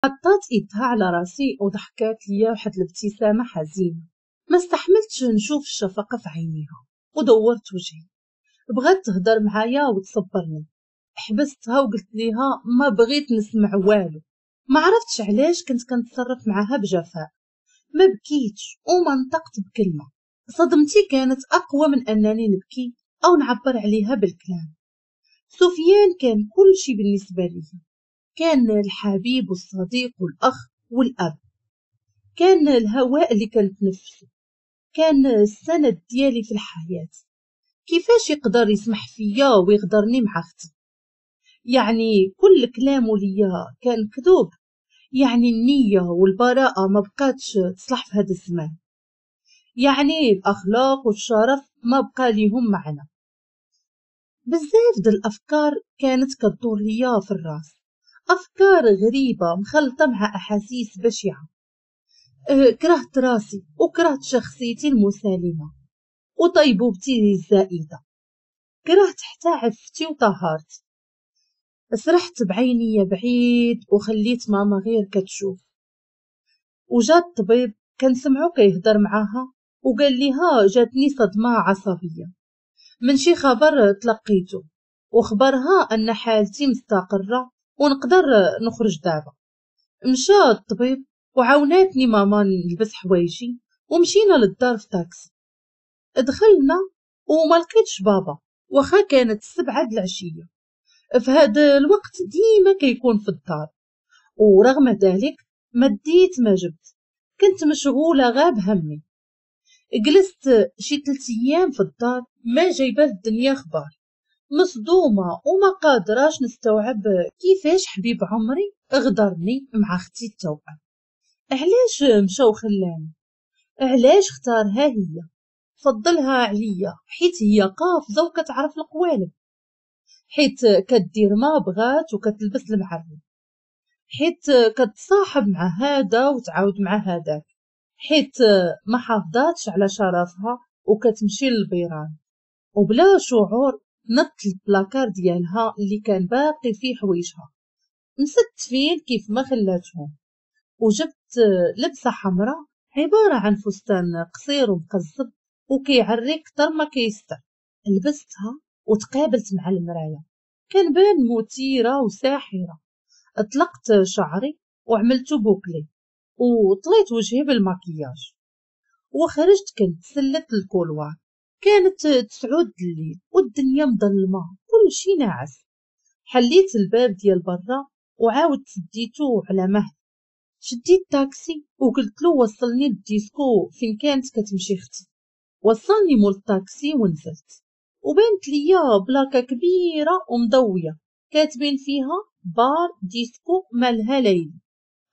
حطات ايدها على راسي وضحكات ليا واحد الابتسامة حزينة. ما استحملتش نشوف الشفقة في عينيها ودورت وجهي. بغات تهضر معايا وتصبرني، حبستها وقلت ليها ما بغيت نسمع والو. ما عرفتش علاش كنت كنتصرف معاها بجفاء، ما بكيتش وما نطقت بكلمه. صدمتي كانت اقوى من انني نبكي او نعبر عليها بالكلام. سفيان كان كل شيء بالنسبة لي، كان الحبيب والصديق والاخ والاب، كان الهواء اللي كنتنفسه، كان السند ديالي في الحياة. كيفاش يقدر يسمح فيا ويغدرني مع اختي؟ يعني كل كلامه ليا كان كذوب، يعني النية والبراءة ما بقاتش تصلح في هذا الزمان، يعني الأخلاق والشرف ما بقى ليهم معنى. بزاف د الأفكار كانت كدور ليا في الراس، أفكار غريبة مخلطة مع أحاسيس بشعة. كرهت راسي وكرهت شخصيتي المسالمة وطيبوبتي الزائدة، كرهت حتى عفتي وطهارتي. سرحت بعيني بعيد وخليت ماما غير كتشوف. وجا الطبيب كنسمعو كيهضر معاها وقال ليها جاتني صدمة عصبية من شي خبر تلقيته، وخبرها أن حالتي مستقرة ونقدر نخرج دابا. مشى الطبيب وعاوناتني ماما نلبس حوايجي ومشينا للدار في تاكسي. دخلنا وما لقيتش بابا، واخا كانت 7 د العشية. في هذا الوقت ديما كيكون في الدار، ورغم ذلك ما ديت ما جبت، كنت مشغولة غاب همي. جلست شي 3 ايام في الدار ما جايبه الدنيا خبار، مصدومة وما قادراش نستوعب كيفاش حبيب عمري غدرني مع اختي التوأم. علاش مشى وخلاني؟ علاش اختارها هي؟ فضلها عليا حيت هي قافزه وكتعرف القوالب، حيت كدير ما بغات وكتلبس المعرب، حيت كتصاحب مع هذا وتعاود مع هذاك، حيت ما حافظاتش على شرفها وكتمشي للبيران. وبلا شعور نط البلاكار ديالها اللي كان باقي فيه حوايجها مستفين كيف ما خلاتهم، وجبت لبسه حمراء عبارة عن فستان قصير ومقزب وكيعري كتر ما كيستر. لبستها وتقابلت مع المراية، كان بان مثيرة وساحره. اطلقت شعري وعملته bouclé وطليت وجهي بالماكياج وخرجت كنتسلت ال couloir. كانت 9 الليل والدنيا مظلمة، كل شي ناعس. حليت الباب ديال برا وعاودت سديتو على مهل. شديت تاكسي وقلت له وصلني للديسكو فين كانت كتمشي اختي. وصلني مول التاكسي ونزلت، وبانت ليا بلاكه كبيرة ومضويه كاتبين فيها بار ديسكو مالها ليلي.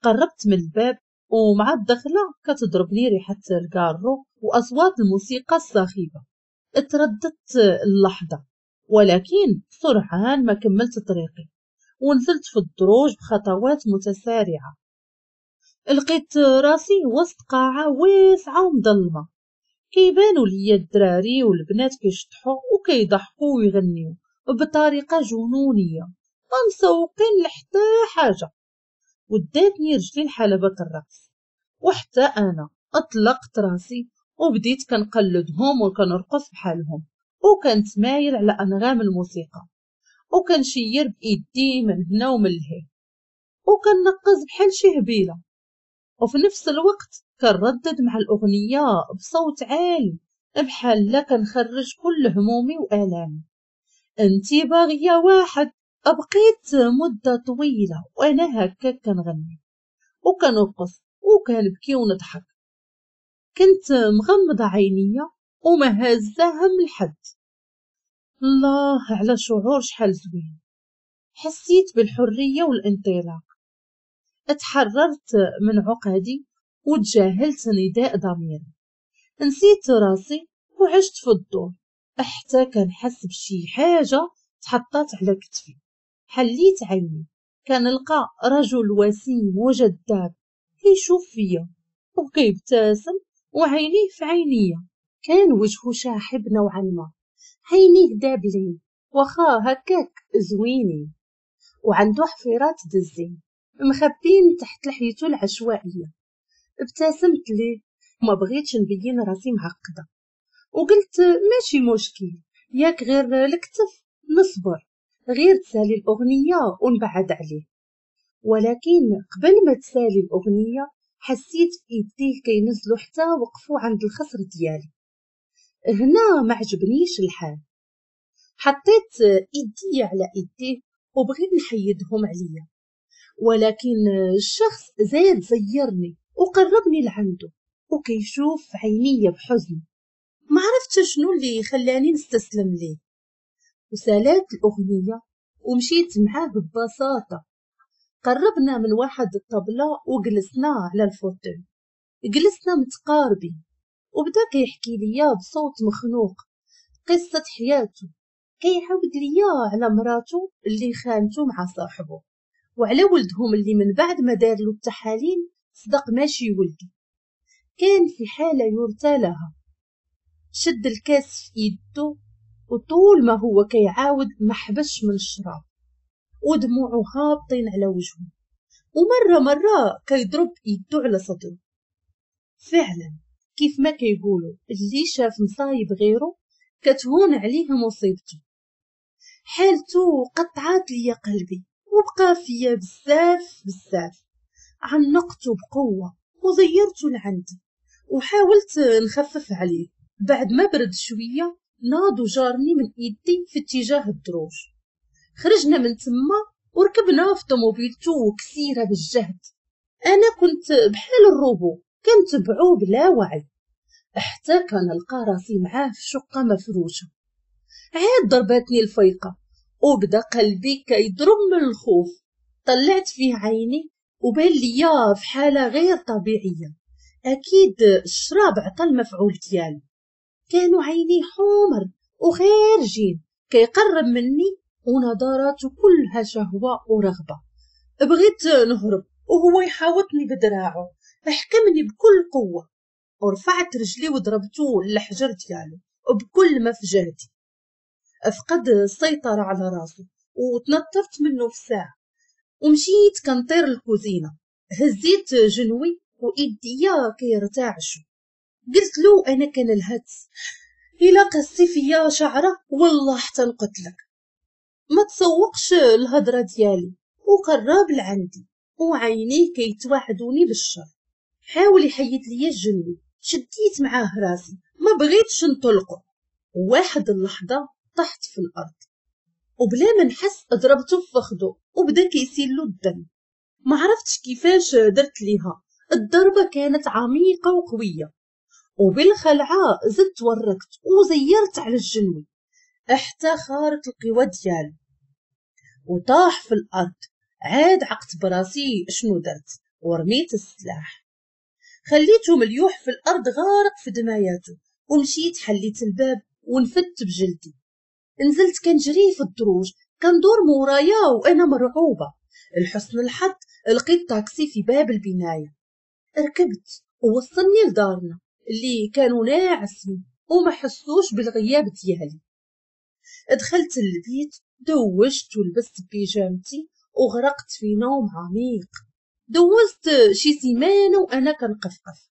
قربت من الباب ومع الدخلة كتضربني ريحه الكارو واصوات الموسيقى الصاخبه. ترددت اللحظة، ولكن سرعان ما كملت طريقي ونزلت في الدروج بخطوات متسارعة. لقيت راسي وسط قاعة واسعة ومظلمه، كيبانوا ليا الدراري والبنات كيشطحوا وكيضحكوا ويغنيو بطريقة جنونيه، ما مسوقين لحتى حاجة. وداتني رجلي لحلبة الرقص، وحتى انا اطلقت راسي وبديت كنقلدهم وكنرقص بحالهم وكنتمايل على انغام الموسيقى وكنشير بايدي من هنا ومن لهيه وكنقز بحال شي هبيله، وفي نفس الوقت كنردد مع الاغنية بصوت عالي بحال لا كنخرج كل همومي والامي. انتي باغية واحد. بقيت مده طويلة وانا هكا كنغني وكنرقص وكنبكي ونضحك. كنت مغمضه عينيا وما هازه هم لحد. الله على شعور شحال زوين، حسيت بالحرية والانطلاق. اتحررت من عقدي وتجاهلت نداء ضميري، نسيت راسي وعشت في الدور حتى كنحس بشي حاجة تحطات على كتفي. حليت عيني كنلقى رجل وسيم وجذاب كيشوف فيا وكيبتسم وعينيه في عينيا. كان وجهه شاحب نوعا ما، عينيه دابلين واخا هكاك زوينين، وعنده حفيرات دزين. مخبين تحت لحيته العشوائية. ابتسمت ليه وما بغيتش نبين راسي معقدة، وقلت ماشي مشكل، ياك غير الكتف، نصبر غير تسالي الأغنية ونبعد عليه. ولكن قبل ما تسالي الأغنية حسيت بإيديه كينزلوا حتى وقفوا عند الخصر ديالي. هنا ما عجبنيش الحال، حطيت إيدي على إيديه وبغيت نحيدهم عليا، ولكن الشخص زاد زيرني وقربني لعنده وكيشوف عينيا بحزن. ما عرفت شنو اللي خلاني نستسلم ليه. وسالات الأغنية ومشيت معاه ببساطة. قربنا من واحد الطبلة وجلسنا على الفوتوي، جلسنا متقاربين، وبدا كيحكي ليا بصوت مخنوق قصة حياته. كيعاود ليا على مراته اللي خانته مع صاحبه، وعلى ولدهم اللي من بعد ما دار له التحاليل صدق ماشي ولده. كان في حالة يرثى لها. شد الكاس في يده وطول ما هو كيعاود ما حبش من الشراب، ودموعه هابطين على وجهه، ومرة مرة كيضرب يده على صدره. فعلا كيف ما كيقولوا، اللي شاف مصايب غيره كتهون عليه مصيبته. حالته قطعات ليا قلبي وبقى فيا بزاف بزاف. عنقته بقوة وزيرته لعندي وحاولت نخفف عليه. بعد ما برد شوية ناض وجارني من ايدي في اتجاه الدروج. خرجنا من تما وركبنا في طوموبيلتو كثيرة بالجهد. انا كنت بحال الروبو كنتبعو بلا وعي، حتى كنلقى راسي معاه في شقة مفروشة. عاد ضربتني الفيقة وبدا قلبي كيضرب من الخوف. طلعت فيه عيني وبان ليا في حالة غير طبيعية، اكيد الشراب عطى المفعول ديالو. كانوا عيني حمر وخارجين، كيقرب مني ونظراته كلها شهوة ورغبة. بغيت نهرب وهو يحاوطني بدراعه، حكمني بكل قوة ورفعت رجلي وضربته للحجر ديالو بكل ما في جهدي. فقد السيطرة على راسه وتنطرت منه في ساعة ومشيت كنطير الكوزينة. هزيت جنوي وإيديا كيرتعشوا. قلت له أنا كنلهت، إلا قصي فيا شعرة والله حتى نقتلك. ما تسوقش الهضرة ديالي وقرب لعندي وعينيه كيتوعدوني بالشر. حاول يحيد ليا الجنوي، شديت معاه راسي ما بغيتش نطلقه. وواحد اللحظة طحت في الأرض وبلا ما نحس ضربته في فخده وبدا كيسيل له الدم. ما عرفتش كيفاش درت ليها، الضربة كانت عميقة وقوية، وبالخلعة زدت وركت وزيرت على الجنوي حتى خارت القوى ديالو وطاح في الأرض. عاد عقت براسي شنو درت ورميت السلاح، خليته مليوح في الأرض غارق في دماياته، ومشيت حليت الباب ونفدت بجلدي. نزلت كنجري في الدروج كندور مورايا وأنا مرعوبة. لحسن الحظ لقيت طاكسي في باب البناية، ركبت ووصلني لدارنا اللي كانوا ناعسين وما حسوش بالغياب ديالي. دخلت البيت، دوشت ولبست بيجامتي وغرقت في نوم عميق. دوزت شي سيمانه وانا كنقفقف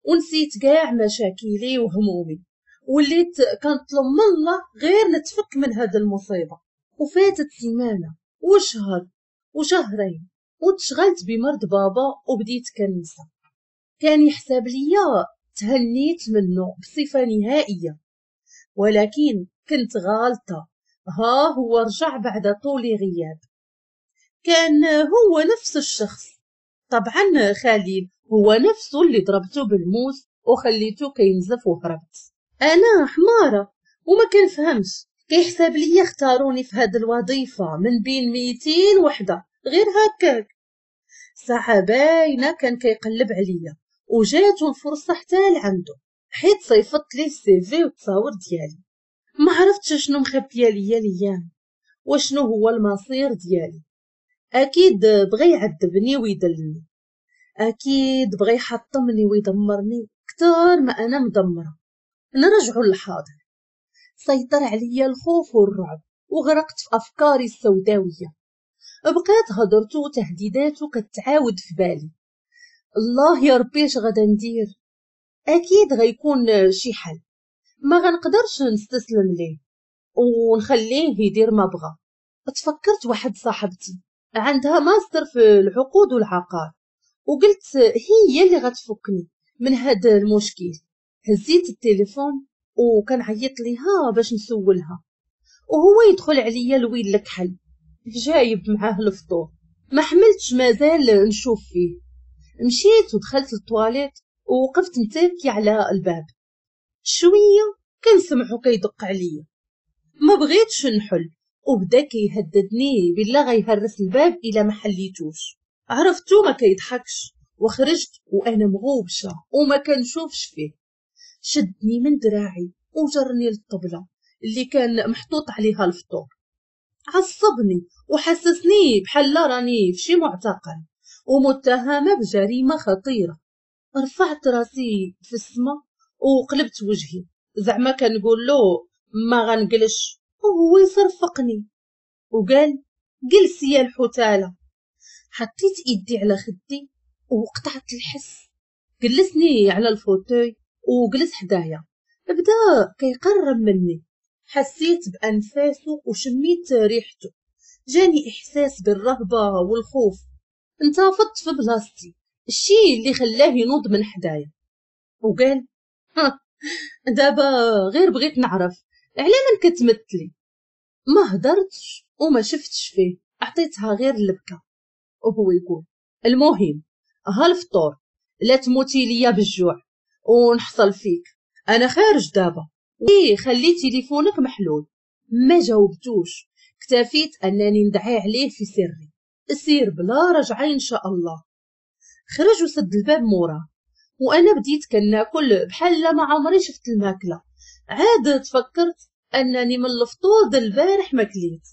ونسيت كاع مشاكلي وهمومي، وليت كنطلب من الله غير نتفك من هذا المصيبة. وفاتت سيمانه وشهر وشهرين وتشغلت بمرض بابا وبديت كنسى. كان يحسب ليا تهنيت منه بصفة نهائية، ولكن كنت غالطه. ها هو رجع بعد طول غياب. كان هو نفس الشخص، طبعا خليل هو نفسه اللي ضربته بالموس وخليته كينزف وهربت. انا حماره وما كنفهمش، كيحسب ليا اختاروني في هاد الوظيفة من بين 200 وحده غير هكاك. ساعة باينة كان كيقلب عليا وجاتو الفرصة حتى لعندو، حيت صيفط ليه ال CV والتصاور ديالي. ما عرفتش شنو مخبيه ليا الايام وشنو هو المصير ديالي. اكيد بغى يعذبني ويدلني، اكيد بغى يحطمني ويدمرني كتر ما انا مدمرة. نرجعوا للحاضر. سيطر عليا الخوف والرعب وغرقت في افكاري السوداويه. بقات هضرته وتهديداته كتعاود في بالي. الله يا ربي اش غادا ندير؟ اكيد غيكون شي حل، ما غنقدرش نستسلم ليه ونخليه يدير ما بغى. تفكرت واحد صاحبتي عندها ماستر في العقود والعقار، وقلت هي اللي غتفكني من هذا المشكل. هزيت التليفون وكنعيط ليها باش نسولها، وهو يدخل عليا الويل الكحل جايب معاه الفطور. ما حملتش مازال نشوف فيه، مشيت ودخلت للطواليت ووقفت متكي على الباب. شوية كنسمعو كيدق عليا، ما بغيتش نحل، وبدا كيهددني بالله غيهرس الباب الا ما حليتوش. عرفتو ما كيضحكش، وخرجت وانا مغوبشه وما كنشوفش فيه. شدني من دراعي وجرني للطبله اللي كان محطوط عليها الفطور. عصبني وحسسني بحال راني في شي معتقل ومتهمه بجريمة خطيرة. رفعت راسي في السما وقلبت وجهي، زعما كنقول له ما غنجلش، وهو يصرفقني وقال جلسي يا الحتاله. حطيت ايدي على خدي وقطعت الحس. جلسني على ال fauteuil وجلس حدايا، بدا كيقرب مني. حسيت بانفاسه وشميت ريحته، جاني احساس بالرهبه والخوف. انتفضت في بلاصتي، الشيء اللي خلاه ينوض من حدايا وقال دابا غير بغيت نعرف على من كتمثلي. ما هدرتش وما شفتش فيه، عطيتها غير البكا. وهو يقول المهم ها الفطور، لا تموتي ليا بالجوع ونحصل فيك، انا خارج دابا، خلي تليفونك محلول. ما جاوبتوش، اكتفيت انني ندعي عليه في سري، سير بلا رجعه ان شاء الله. خرج وسد الباب موراه، وانا بديت كناكل بحال ما عمري شفت الماكلة. عاد تفكرت انني من الفطور د البارح ما كليت.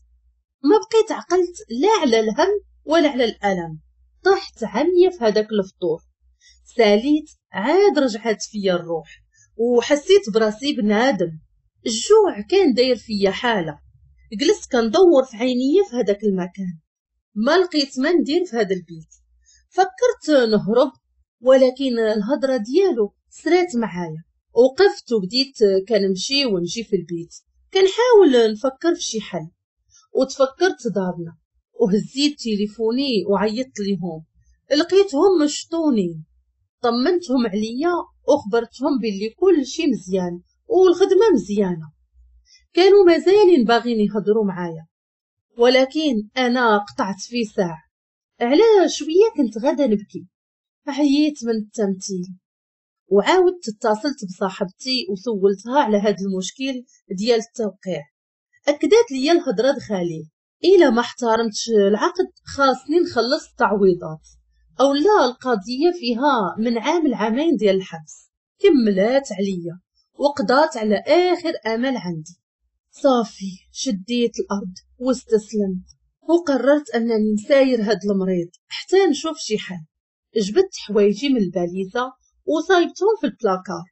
ما بقيت عقلت لا على الهم ولا على الالم، طحت عمية في هذاك الفطور. ساليت عاد رجعت فيا الروح وحسيت براسي بنادم. الجوع كان داير فيا حاله. جلست كندور في عينيا في هذاك المكان، ما لقيت ما ندير في هذا البيت. فكرت نهرب، ولكن الهضرة ديالو سرات معايا. وقفت وبديت كنمشي ونجي في البيت كنحاول نفكر في شي حل. وتفكرت دارنا وهزيت تليفوني وعيطت ليهم، لقيتهم مشطونين. طمنتهم عليا وخبرتهم باللي كل شي مزيان والخدمة مزيانه. كانوا مازالين باغين يهضروا معايا، ولكن انا قطعت في ساعة. على شوية كنت غادا نبكي، عييت من التمثيل. وعاودت اتصلت بصاحبتي وسولتها على هذا المشكل ديال التوقيع. اكدت لي الهضرة دخالي، الا ما احترمتش العقد خاصني نخلص التعويضات، او لا القضية فيها من عام لعامين ديال الحبس. كملات عليا وقضات على اخر امل عندي. صافي شديت الارض واستسلمت، وقررت انني نساير هاد المريض حتى نشوف شي حل. جبدت حوايجي من الباليزه وصايبتهم في البلاكار،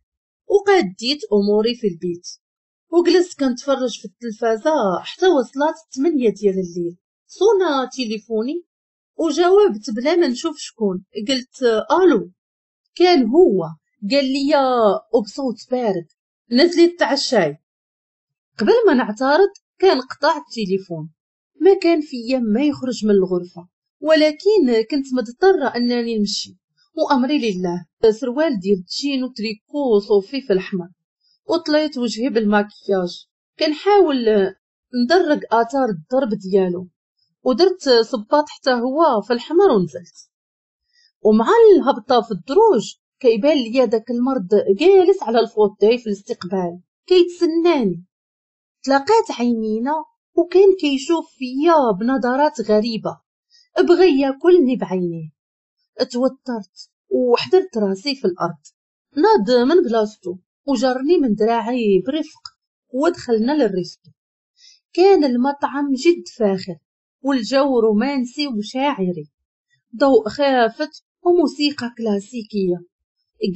وقاديت اموري في البيت، وجلست كنتفرج في التلفازه حتى وصلت 8 ديال الليل. صونا تليفوني وجاوبت بلا ما نشوف شكون. قلت الو. كان هو. قال لي وبصوت بارد نزلي تعشاي. قبل ما نعترض كان قطع التليفون. ما كان فيا ما يخرج من الغرفة، ولكن كنت مضطرة انني نمشي وامري لله. سروال ديال تشين وتريكو صوفي في الاحمر، وطليت وجهي بالماكياج كنحاول ندرج اثار الضرب ديالو، ودرت صباط حتى هو في الحمر ونزلت. ومع الهبطه في الدروج كيبان ليا داك المرض جالس على ال fauteuil في الاستقبال كيتسناني. تلاقات عينينا وكان كيشوف فيا بنظرات غريبة، بغى ياكلني بعينيه. توترت وحدرت راسي في الارض. ناض من بلاصتو وجرني من دراعي برفق ودخلنا لل resto. كان المطعم جد فاخر والجو رومانسي وشاعري، ضوء خافت وموسيقى كلاسيكية.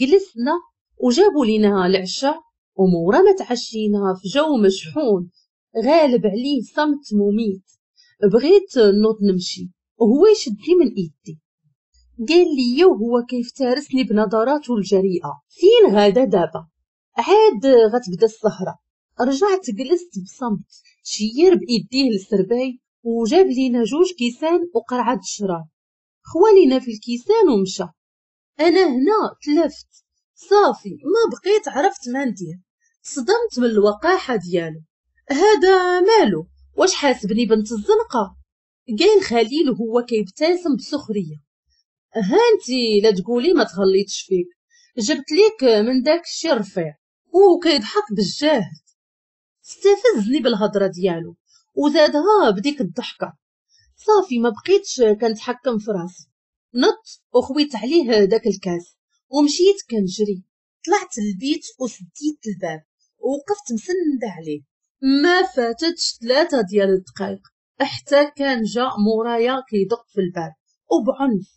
جلسنا وجابوا لنا العشاء، ومورا ما تعشينا في جو مشحون غالب عليه صمت مميت. بغيت نوض نمشي وهو يشدني من ايدي. قال لي وهو كيفترسني بنظراته الجريئة: فين غادا دابا؟ عاد غتبدا السهرة. رجعت جلست بصمت. شير بايديه للسرباي وجاب لينا 2 كيسان وقرعه الشراب، خوا لينا في الكيسان ومشى. انا هنا تلفت صافي، ما بقيت عرفت ما ندير. صدمت من الوقاحة ديالو. هذا مالو؟ واش حاسبني بنت الزنقة؟ قال خليل وهو كيبتسم بسخريه: ها انتي لا تقولي ما تغليتش فيك، جبت ليك من داك الشي الرفيع. وكيضحك بالجاهد. استفزني بالهضره ديالو وزادها بديك الضحكة. صافي ما بقيتش كنتحكم في راسي، نط وخويت عليه داك الكاس ومشيت كنجري. طلعت للبيت وسديت الباب ووقفت مسنده عليه. ما فاتتش 3 ديال الدقائق حتى كان جا مورايا كيدق في الباب وبعنف.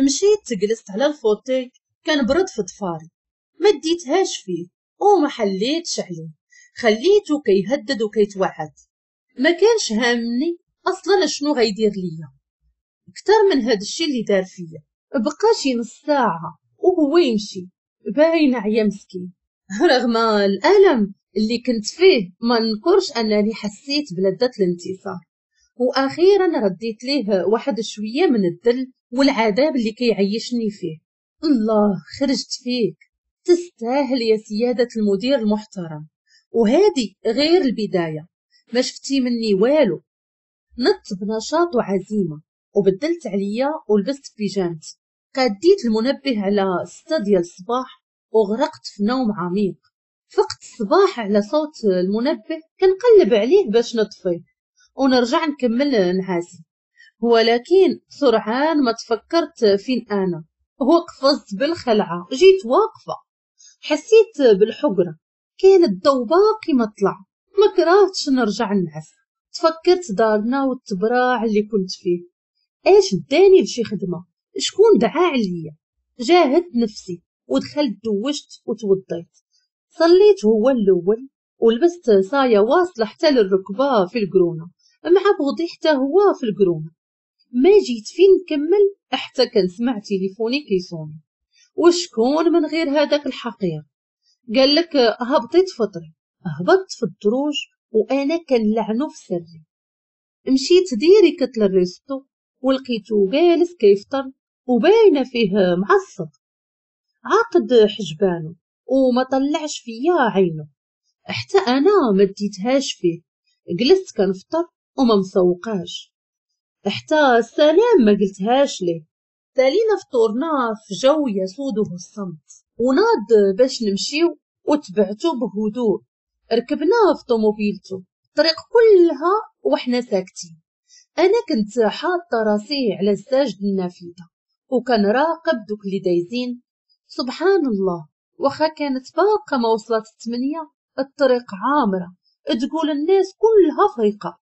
مشيت جلست على ال fauteuil كنبرد في ضفاري، ما ديتهاش فيه وما حليتش عليه، خليته كيهدد وكيتوعد. ما كانش هامني اصلا شنو غيدير ليا اكثر من هذا الشيء اللي دار فيا. بقى شي نص ساعة وهو يمشي، باين عيا مسكين. رغم الالم اللي كنت فيه ما نكرش انني حسيت بلذة الانتصار، واخيرا رديت ليه واحد شوية من الذل والعذاب اللي كيعيشني فيه. الله، خرجت فيك، تستاهل يا سيادة المدير المحترم. وهذه غير البداية، ما شفتي مني والو. نط بنشاط وعزيمة وبدلت عليا ولبست بيجامتي. قاديت المنبه على 6 ديال الصباح وغرقت في نوم عميق. فقت الصباح على صوت المنبه كنقلب عليه باش نطفيه ونرجع نكمل نعاسي، ولكن سرعان ما تفكرت فين انا. وقفزت بالخلعه، جيت واقفة، حسيت بالحقره، كان الضو باقي ما طلع. ما كرهتش نرجع نعس. تفكرت دارنا والتبراع اللي كنت فيه. اش داني لشي خدمة؟ شكون دعا عليا؟ جاهدت نفسي ودخلت دوشت وتوضيت، صليت هو الاول ولبست صايه واصله حتى للركبه في القرونه مع بوضي حتى هو في القرونه. ما جيت فين نكمل حتى كنسمع تليفوني كيصوني. وشكون من غير هذاك الحقير؟ قال لك هبطي تفطري. هبطت في الدروج وانا كنلعنو في سري. مشيت direct لل resto ولقيتو جالس كيفطر وباينه فيه معصب، عاقد حجبانو وما طلعش فيا عينه. حتى انا ما ديتهاش فيه، جلست كنفطر وما مسوقاش، حتى السلام ما قلتهاش ليه. تالينا فطورنا في جو يسوده الصمت، وناض باش نمشيو وتبعتو بهدوء. ركبنا في طوموبيلتو الطريق كلها وحنا ساكتين. انا كنت حاطه راسي على الزاج النافذة وكنراقب دوك اللي دايزين. سبحان الله، واخا كانت باقه ما وصلت 8، الطريق عامرة، تقول الناس كلها فايقه.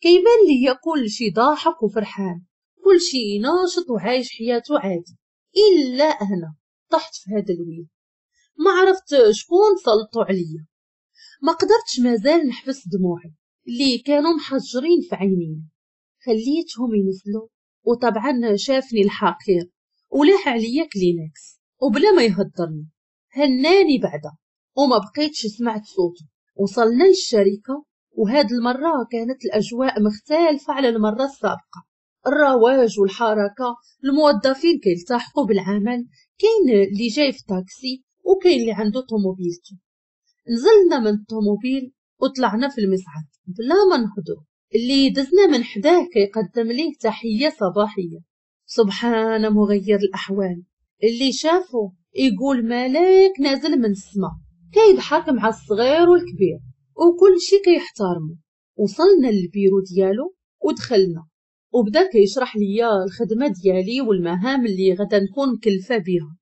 كيبان ليا كلشي ضاحك وفرحان، كلشي ناشط وعايش حياته عادي، الا انا طحت في هذا الويل. ما عرفت شكون سلطوا عليا، ما قدرتش مازال نحبس دموعي اللي كانوا محجرين في عيني. خليتهم ينزلوا، وطبعا شافني الحقير ولاح عليا كلينكس وبلا ما يهضرني هناني بعدا، وما بقيتش سمعت صوته. وصلنا للشركة، وهاد المرة كانت الأجواء مختلفة على المرة السابقة. الرواج والحركة، الموظفين كيلتحقوا بالعمل، كاين اللي جاي في تاكسي وكاين اللي عنده طوموبيلته. نزلنا من الطوموبيل وطلعنا في المصعد بلا ما نهضروا. اللي دزنا من حداه كيقدم ليه تحية صباحية. سبحان مغير الأحوال، اللي شافه يقول ملاك نازل من السماء، كيضحك مع الصغير والكبير وكل شي كيحترمه. وصلنا للبيرو ديالو ودخلنا، وبدا كيشرح ليا الخدمة ديالي والمهام اللي غدا نكون مكلفة بها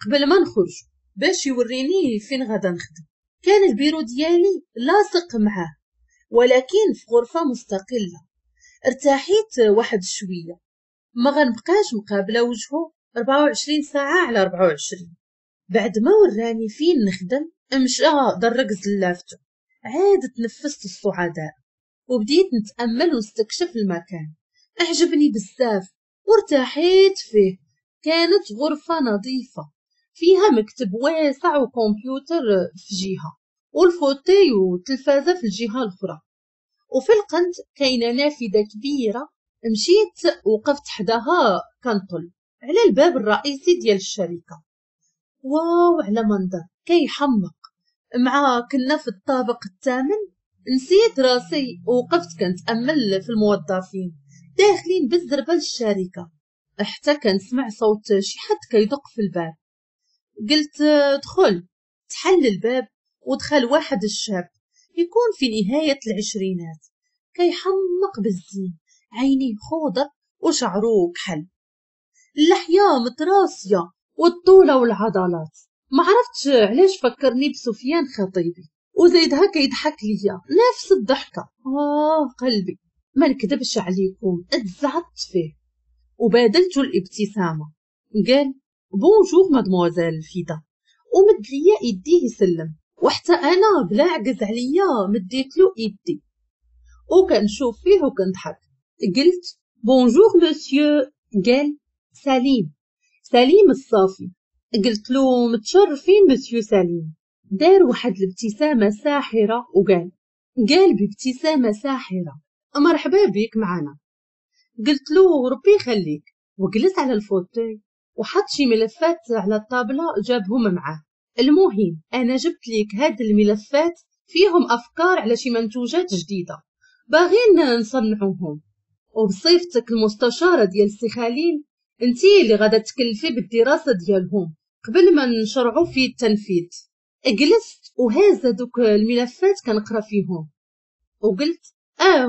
قبل ما نخرج باش يوريني فين غدا نخدم. كان البيرو ديالي لاصق معاه ولكن في غرفة مستقلة. ارتاحيت واحد شوية، ما غنبقاش مقابله وجهه 24 ساعة على 24. بعد ما وراني فين نخدم مشى درق زلافتو، عاد تنفست الصعداء وبديت نتامل ونستكشف المكان. اعجبني بزاف وارتاحيت فيه. كانت غرفة نظيفة فيها مكتب واسع وكمبيوتر في جهة وال fauteuil والتلفازه في الجهة الاخرى، وفي القنت كاينه نافذة كبيرة. مشيت وقفت حداها كنطل على الباب الرئيسي ديال الشركة. واو على منظر كيحمق. مع كنا في الطابق الثامن نسيت راسي ووقفت كنتامل في الموظفين داخلين بالزربه للشركة، حتى كنسمع صوت شي حد كيدق في الباب. قلت دخل. تحل الباب ودخل واحد الشاب يكون في نهاية العشرينات، كيحمق بالزين، عينيه خضر وشعره كحل، اللحية متراسيه والطوله والعضلات. ما عرفتش علاش فكرني بسفيان خطيبي، وزيدها كيضحك ليا نفس الضحكة. قلبي ما نكذبش عليكم اتزعطت فيه وبادلته الابتسامة. قال bonjour mademoiselle فيدا، ومد ليا ايديه يسلم، وحتى انا بلا عجز عليا مديت له ايدي وكنشوف فيه وكنضحك. قلت bonjour monsieur. قال سليم، سليم الصافي. قلت له متشرفين مسيو سليم. دار واحد الابتسامة ساحرة وقال، قال بابتسامة ساحرة مرحبا بك معنا. قلت له ربي يخليك، وجلس على ال fauteuil وحط شي ملفات على الطابله جابهم معاه. المهم انا جبت لك هاد الملفات فيهم افكار على شي منتوجات جديدة باغين نصنعوهم، وبصفتك المستشارة ديال سي خليل انتي اللي غادا تكلفي بالدراسة ديالهم قبل ما نشرعوا في التنفيذ. جلست وهازه دوك الملفات كنقرا فيهم وقلت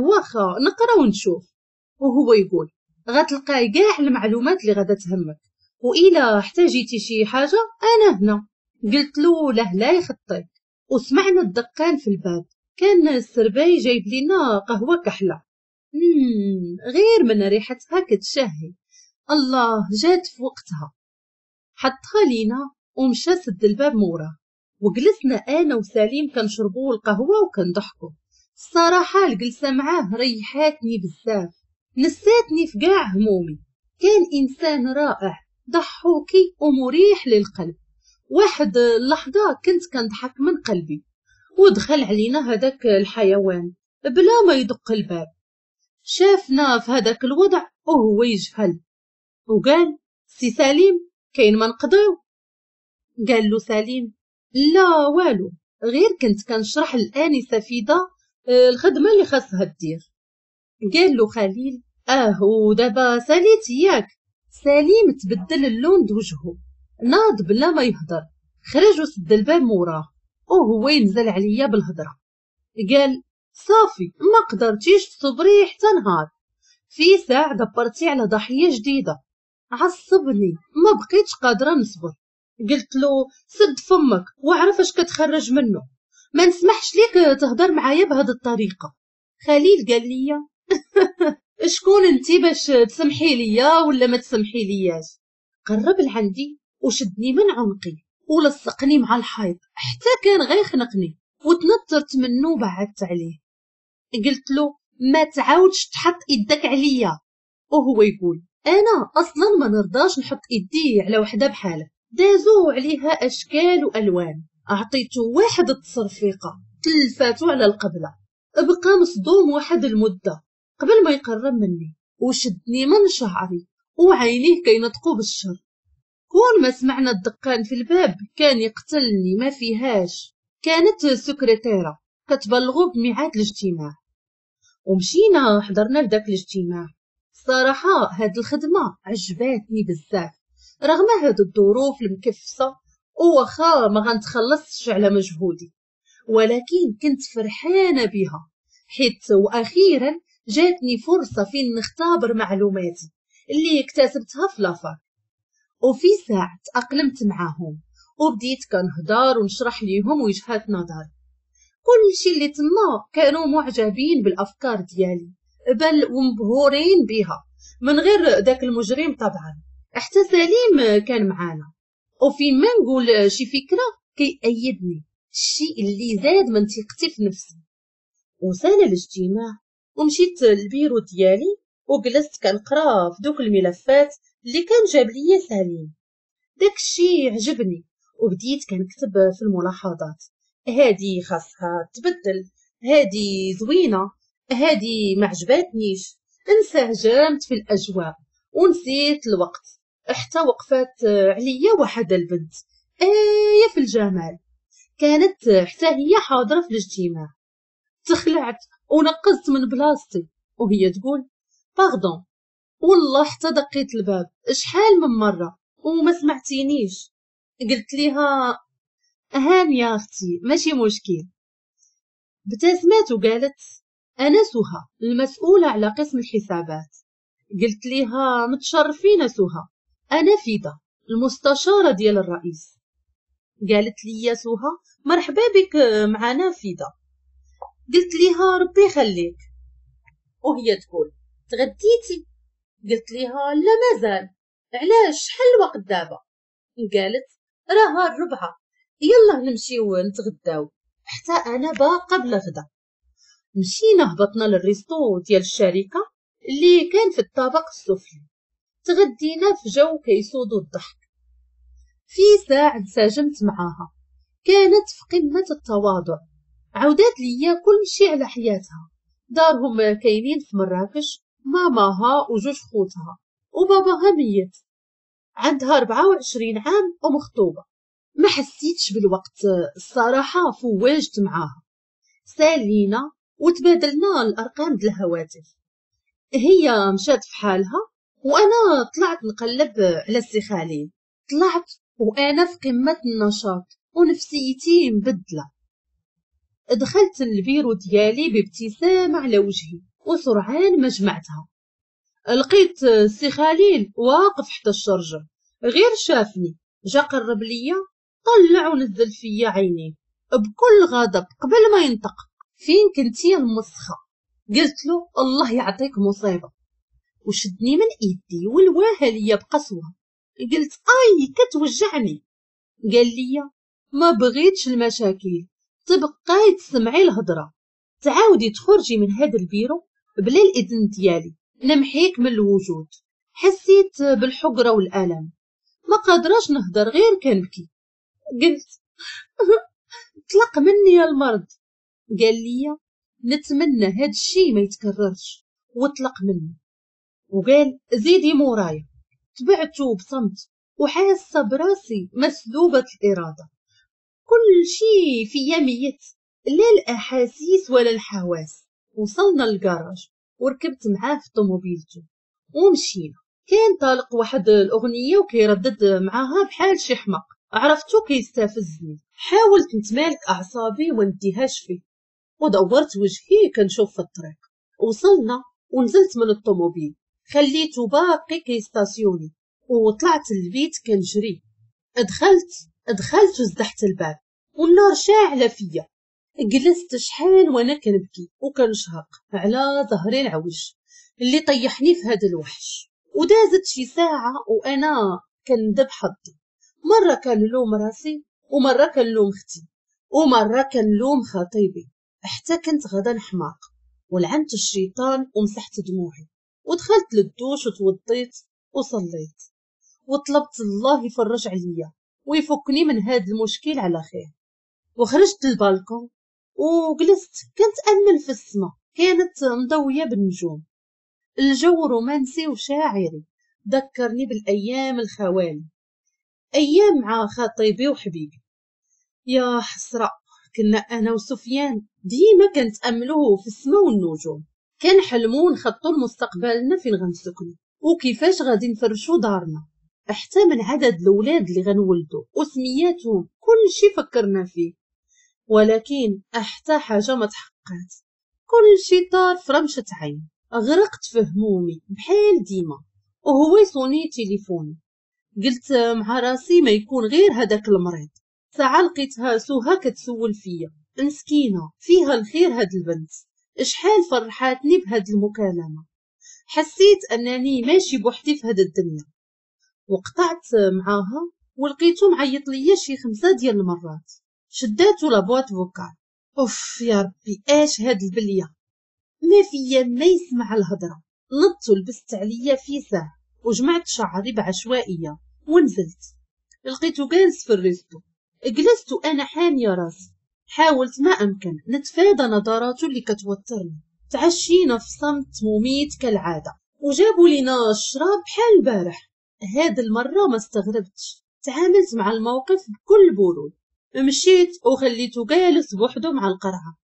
واخا نقرا ونشوف. وهو يقول غتلقاي كاع المعلومات اللي غادا تهمك، وإلا احتاجيتي شي حاجة انا هنا. قلت له لا يخطيك. وسمعنا الدقان في الباب، كان السرباي جايب لنا قهوة كحلة، غير من ريحتها كتشهي. الله جات في وقتها. حطها لينا ومشى سد الباب موراه، وجلسنا انا وسليم كنشربوا القهوة وكنضحكوا. الصراحة الجلسة معاه ريحاتني بزاف، نساتني في كاع همومي. كان انسان رائع، ضحوكي ومريح للقلب. واحد اللحظة كنت كنضحك من قلبي، ودخل علينا هذاك الحيوان بلا ما يدق الباب. شافنا في هذاك الوضع وهو يجهل وقال سي سليم كاين ما نقضيو؟ قال له سليم لا والو، غير كنت كنشرح الانسة فيدا الخدمة اللي خاصها دير. قال له خليل ودابا ساليت ياك؟ سليم تبدل اللون د وجهه، ناض بلا ما يهضر، خرج وسد الباب موراه وهو ينزل عليا بالهضره. قال صافي ما قدرتيش تصبري حتى نهار، في ساعة دبرتي على ضحية جديدة. عصبني ما بقيتش قادرة نصبر. قلت له سد فمك وعرف اش كتخرج منه، ما نسمحش ليك تهضر معايا بهذه الطريقة. خليل قال لي شكون انتي باش تسمحي ليا ولا ما تسمحي لياش؟ قرب لعندي وشدني من عنقي ولصقني مع الحيط حتى كان غيخنقني، وتنطرت منه وبعدت عليه. قلت له ما تعاودش تحط ايدك عليا. وهو يقول انا اصلا ما نرضاش نحط ايدي على وحده بحالك. دازو عليها اشكال والوان. اعطيته واحد التصرفيقه تلفاتو على القبلة. بقى مصدوم واحد المدة قبل ما يقرب مني، وشدني من شعري وعينيه كينطقوا بالشر. كون ما سمعنا الدقان في الباب كان يقتلني ما فيهاش. كانت سكرتيره كتبلغو بميعاد الاجتماع، ومشينا حضرنا لذاك الاجتماع. الصراحة هاد الخدمة عجباتني بزاف رغم هاد الظروف المكفسه، وواخا ما غنتخلصش على مجهودي، ولكن كنت فرحانة بها حيت واخيرا جاتني فرصة فين نختبر معلوماتي اللي اكتسبتها في la fac. وفي ساعة تأقلمت معاهم وبديت كنهضر ونشرح ليهم وجهات نظري. كل شي اللي تما كانوا معجبين بالافكار ديالي بل ومبهورين بها، من غير داك المجرم طبعا. حتى سليم كان معانا، وفي ما نقول شي فكرة كيأيدني، الشيء اللي زاد من ثقتي في نفسي. وسال الاجتماع ومشيت للبيرو ديالي وجلست كنقرا في دوك الملفات اللي كان جاب ليا سليم. داكشي عجبني وبديت كنكتب في الملاحظات، هادي خاصها تبدل، هادي زوينة، هادي ما عجباتنيش. انسجمت في الاجواء ونسيت الوقت حتى وقفات عليا واحد البنت آية في الجمال، كانت حتى هي حاضره في الاجتماع. تخلعت ونقزت من بلاصتي وهي تقول pardon، والله حتى دقيت الباب شحال من مرة وما سمعتينيش. قلت ليها هاني يا اختي ماشي مشكل. ابتسمت وقالت انا سهى المسؤولة على قسم الحسابات. قلت ليها متشرفين سهى، انا فيدا المستشارة ديال الرئيس. قالت لي يا سهى مرحبا بك معنا فيدا. قلت ليها ربي يخليك. وهي تقول تغديتي؟ قلت ليها لا مازال. علاش شحال الوقت دابا؟ قالت راها 4، يلا نمشيو نتغداو حتى انا باقا بلا غدا. مشينا هبطنا لل resto ديال الشركة اللي كان في الطابق السفلي، تغدينا في جو كيسودو الضحك. في ساعة انسجمت معاها، كانت في قمة التواضع، عودات ليا كل شي على حياتها. دارهم كاينين في مراكش، ماماها وجوج خوتها وباباها ميت، عندها 24 عام ومخطوبة. ما حسيتش بالوقت الصراحة، فواجت معاها، سالينا وتبادلنا الأرقام ديال الهواتف. هي مشات في حالها وأنا طلعت نقلب على السي خليل. طلعت وأنا في قمة النشاط ونفسيتي مبدلة. دخلت البيرو ديالي بابتسامة على وجهي وسرعان ما جمعتها. لقيت السي خليل واقف حدا الشرجة، غير شافني جا قرب ليا، طلع ونزل فيا عينيه بكل غضب قبل ما ينطق. فين كنتي المسخة؟ قلت له الله يعطيك مصيبة. وشدني من ايدي والواها ليا بقسوة. قلت اي كتوجعني. قال لي ما بغيتش المشاكل، تبقاي تسمعي الهضرة، تعاودي تخرجي من هذا البيرو بلا الاذن ديالي، نمحيك من الوجود. حسيت بالحقرة والألم، ما قادراش نهضر غير كنبكي. قلت طلق مني المرض. قال لي نتمنى هاد الشي ما يتكررش، وطلق مني وقال زيدي مورايا. تبعته بصمت وحاسه براسي مسلوبه الارادة، كل شي فيا ميت، لا الاحاسيس ولا الحواس. وصلنا للكراج وركبت معاه في طوموبيلته ومشينا. كان طالق واحد الاغنية وكيردد معاها بحال شي حمق، عرفتو كيستفزني. حاولت نتمالك اعصابي ونديهاش فيه، ودورت وجهي كنشوف في الطريق. وصلنا ونزلت من الطوموبيل، خليته باقي كيستاسيوني، وطلعت للبيت كنجري. دخلت وزدحت الباب والنار شاعله فيا. جلست شحال وانا كنبكي وكنشهق على ظهري العوج اللي طيحني في هذا الوحش. ودازت شي ساعة وانا كندب حظي، مرة كنلوم راسي ومرة كنلوم اختي ومرة كنلوم خطيبي، حتى كنت غدا نحماق. ولعنت الشيطان ومسحت دموعي ودخلت للدوش وتوضيت وصليت وطلبت الله يفرج عليا ويفكني من هذا المشكل على خير. وخرجت للبالكون وجلست كنتأمل في السماء، كانت مضوية بالنجوم. الجو رومانسي وشاعري، ذكرني بالأيام الخوالي، أيام مع خطيبي وحبيبي. يا حسرة، كنا أنا وسفيان ديما كنتأملوه في السماء والنجوم، كنحلمو نخطو لمستقبلنا فين غنسكنو وكيفاش غادي نفرشو دارنا، حتى من عدد الأولاد اللي غنولدو وسمياتهم، كل شي فكرنا فيه. ولكن حتى حاجة ما تحققت، كل شي طار في رمشة عين. غرقت في همومي بحال ديما وهو يصوني تليفوني. قلت مع راسي ما يكون غير هذاك المريض. ساعة لقيتها سوها كتسول فيا، مسكينة فيها الخير هاد البنت، شحال فرحاتني بهاد المكالمة. حسيت أنني ماشي بوحدي في هاد الدنيا. وقطعت معاها ولقيتو معيط ليا شي 5 ديال المرات. شداتو la boîte vocale. اوف يا ربي اش هاد البلية. ما فيا ما يسمع الهضرة. نضت ولبست عليا في ساعة وجمعت شعري بعشوائيه ونزلت. لقيته جالس في ال resto. جلست وانا حانيه راسي، حاولت ما امكن نتفادى نظراته اللي كتوترني. تعشينا في صمت مميت كالعادة، وجابوا لينا الشراب بحال البارح. هاد المرة ما استغربتش، تعاملت مع الموقف بكل برود. مشيت وخليته جالس بوحده مع القرعة.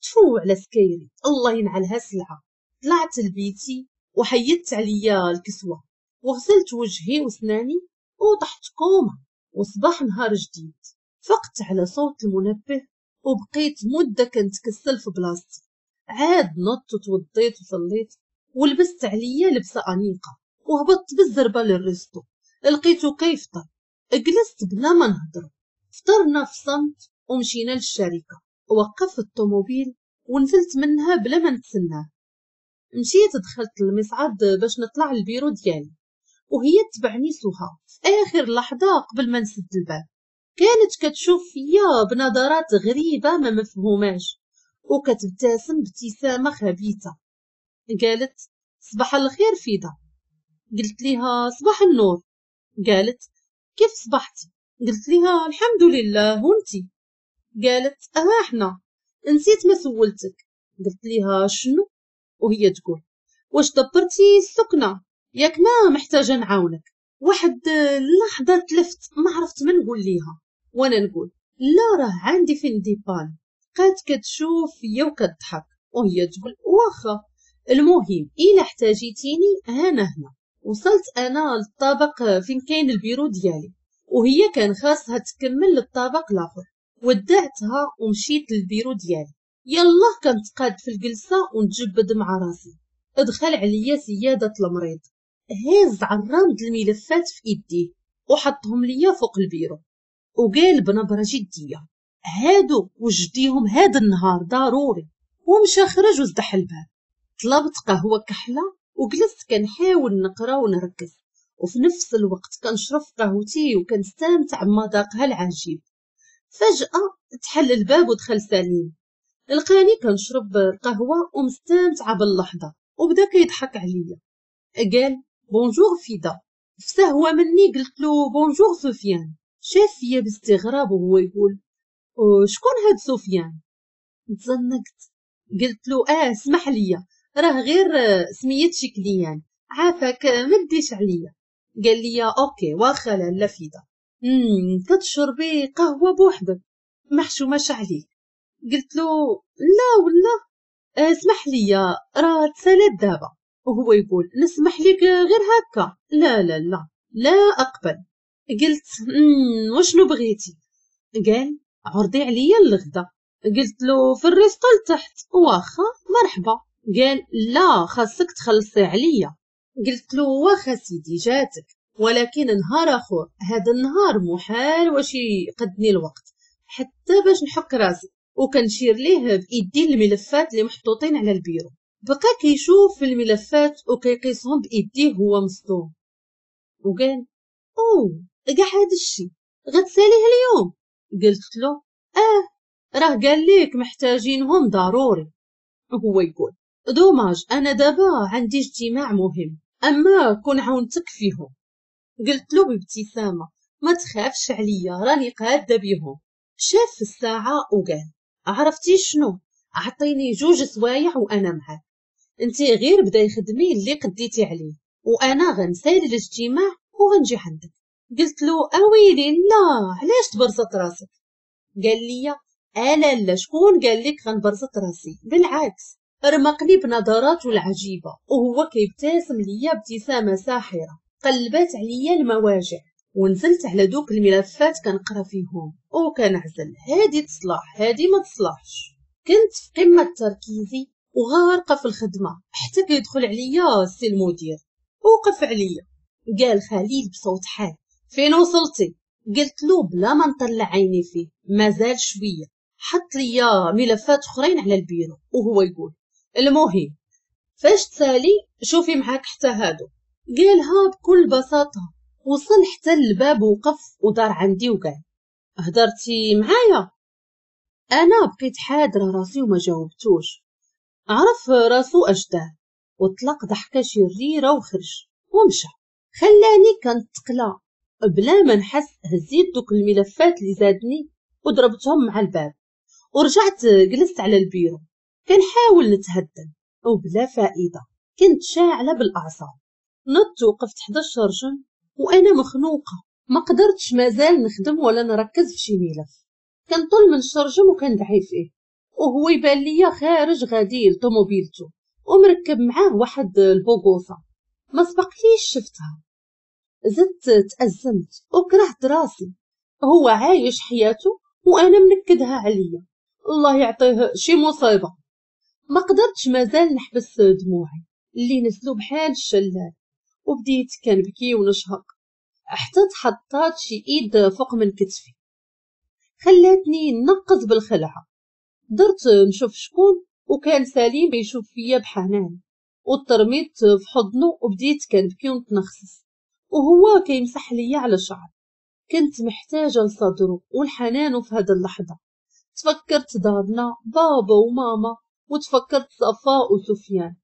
تفو على سكيري، الله ينعلها سلعه. طلعت لبيتي وحيدت عليا الكسوة وغسلت وجهي وسناني وطحت كومة. وصباح نهار جديد. فقت على صوت المنبه وبقيت مده كنتكسل في بلاصتي. عاد نضت وتوضيت وصليت ولبست عليا لبسه انيقه وهبطت بالزربه لل resto. لقيته كيفطر. جلست بلا ما نهضر. فطرنا في صمت ومشينا للشركة. وقفت الطوموبيل ونزلت منها بلا ما نتسناه. مشيت دخلت المصعد باش نطلع البيرو ديالي، وهي تبعني سهى في اخر لحظة قبل ما نسد الباب. كانت كتشوف فيا بنظرات غريبة ما مفهوماش وكتبتسم ابتسامة خبيثة. قالت صباح الخير فيدا. قلت لها صباح النور. قالت كيف صبحتي؟ قلت لها الحمد لله، وانتي؟ قالت احنا نسيت ما سولتك. قلت لها شنو؟ وهي تقول واش دبرتي السكنة؟ ياك ما محتاجه نعاونك. واحد اللحظة تلفت ما عرفت ما نقول ليها، وانا نقول لا راه عندي فين ديبان. بقات كتشوف فيا وكتضحك وهي تقول واخا، المهم الا احتاجيتيني انا هنا. وصلت انا للطابق فين كاين البيرو ديالي، وهي كان خاصها تكمل للطابق الاخر. ودعتها ومشيت للبيرو ديالي. يلا كنتقاد في الجلسة ونتجبد مع راسي. ادخل عليا سيادة المريض هاز عرامد الملفات في ايديه وحطهم ليا فوق البيرو، وقال بنبره جدية هادو وجديهم هاد النهار ضروري. ومشى خرج وزدح الباب. طلبت قهوة كحلة وجلست كنحاول نقرا ونركز، وفي نفس الوقت كنشرب قهوتي وكنستمتع بمذاقها العجيب. فجاة تحل الباب ودخل سليم. لقاني كنشرب القهوة ومستمتعه باللحظة وبدا كيضحك عليا. قال bonjour فيدا. في سهوه مني قلت له bonjour سفيان. شاف فيا باستغراب وهو يقول شكون هاد سفيان؟ تزنقت. قلت له اسمح لي راه غير سميت شي client، عافاك ما ديش عليا. قال لي OK واخا لاله فيدا، كتشربي قهوة بوحدك محشوماش عليك. قلت له لا والله اسمح لي راه تسالات دابا. وهو يقول نسمح لك غير هكا؟ لا لا لا لا اقبل. قلت وشنو بغيتي؟ قال عرضي عليا الغدا. قلت له في ال resto لتحت. واخا مرحبا. قال لا خاصك تخلصي عليا. قلت له واخا سيدي جاتك، ولكن نهار اخر، هذا النهار محال واش يقدني الوقت حتى باش نحك راسي. وكنشير ليه بايدي الملفات اللي محطوطين على البيرو. بقى كيشوف في الملفات وكيقيسهم بايديه هو مصدوم، وقال او كاع هذا الشيء غتساليه اليوم؟ قلت له راه قال لك محتاجينهم ضروري. وهو يقول dommage انا دابا عندي اجتماع مهم، اما كون عاونتك فيهم. قلت له بابتسامة ما تخافش عليا راني قاده بيهم. شاف في الساعة وقال عرفتي شنو، عطيني 2 سوايع وانا معاك، انتي غير بداي خدمي اللي قديتي عليه وانا غنسالي الاجتماع وغنجي عندك. قلت له اويلي لا علاش تبرزط راسك؟ قال لي انا لا شكون قال لك غنبرزط راسي، بالعكس. رمقني بنظراته العجيبة وهو كيبتسم ليا ابتسامة ساحرة قلبات عليا المواجع. ونزلت على دوك الملفات كنقرا فيهم وكنعزل هادي تصلح هادي ما تصلحش. كنت في قمة تركيزي وغارقه في الخدمة حتى كيدخل عليا السي المدير. وقف عليا قال خليل بصوت حاد فين وصلتي؟ قلت له بلا ما نطلع عيني فيه مازال شوية. حط ليا ملفات اخرين على البيرو وهو يقول المهم فاش تسالي شوفي معاك حتى هادو. قالها بكل بساطة. وصل حتى للباب وقف ودار عندي وقال هدرتي معايا؟ انا بقيت حاضره راسي وما جاوبتوش. عرف راسو اش دار وطلق ضحكه شريرة وخرج ومشى، خلاني كنتقلى بلا ما نحس. هزيت دوك الملفات اللي زادني وضربتهم مع الباب ورجعت جلست على البيرو كنحاول نتهدن وبلا فائدة. كنت شاعله بالاعصاب. نضت وقفت حدا الشرجم وانا مخنوقه، ما قدرتش مازال نخدم ولا نركز في شي ملف. كنطل من الشرجم وكندعي فيه، وهو يبان ليا خارج غادي لطوموبيلته ومركب معاه واحد البوغوصه ما سبقليش شفتها. زدت تأزمت وكرهت راسي، هو عايش حياته وانا منكدها عليا، الله يعطيه شي مصيبة. ما قدرتش مازال نحبس دموعي اللي نزلوا بحال الشلال، وبديت كنبكي ونشهق حتى تحطات شي ايد فوق من كتفي خلاتني نقز بالخلعه. درت نشوف شكون، وكان سليم يشوف فيا بحنان، وترميت في حضنه وبديت كنبكي ونتنخسس وهو كيمسح ليا على شعري. كنت محتاجه لصدره والحنان في هذه اللحظة. تفكرت دارنا، بابا وماما، وتفكرت صفاء وسفيان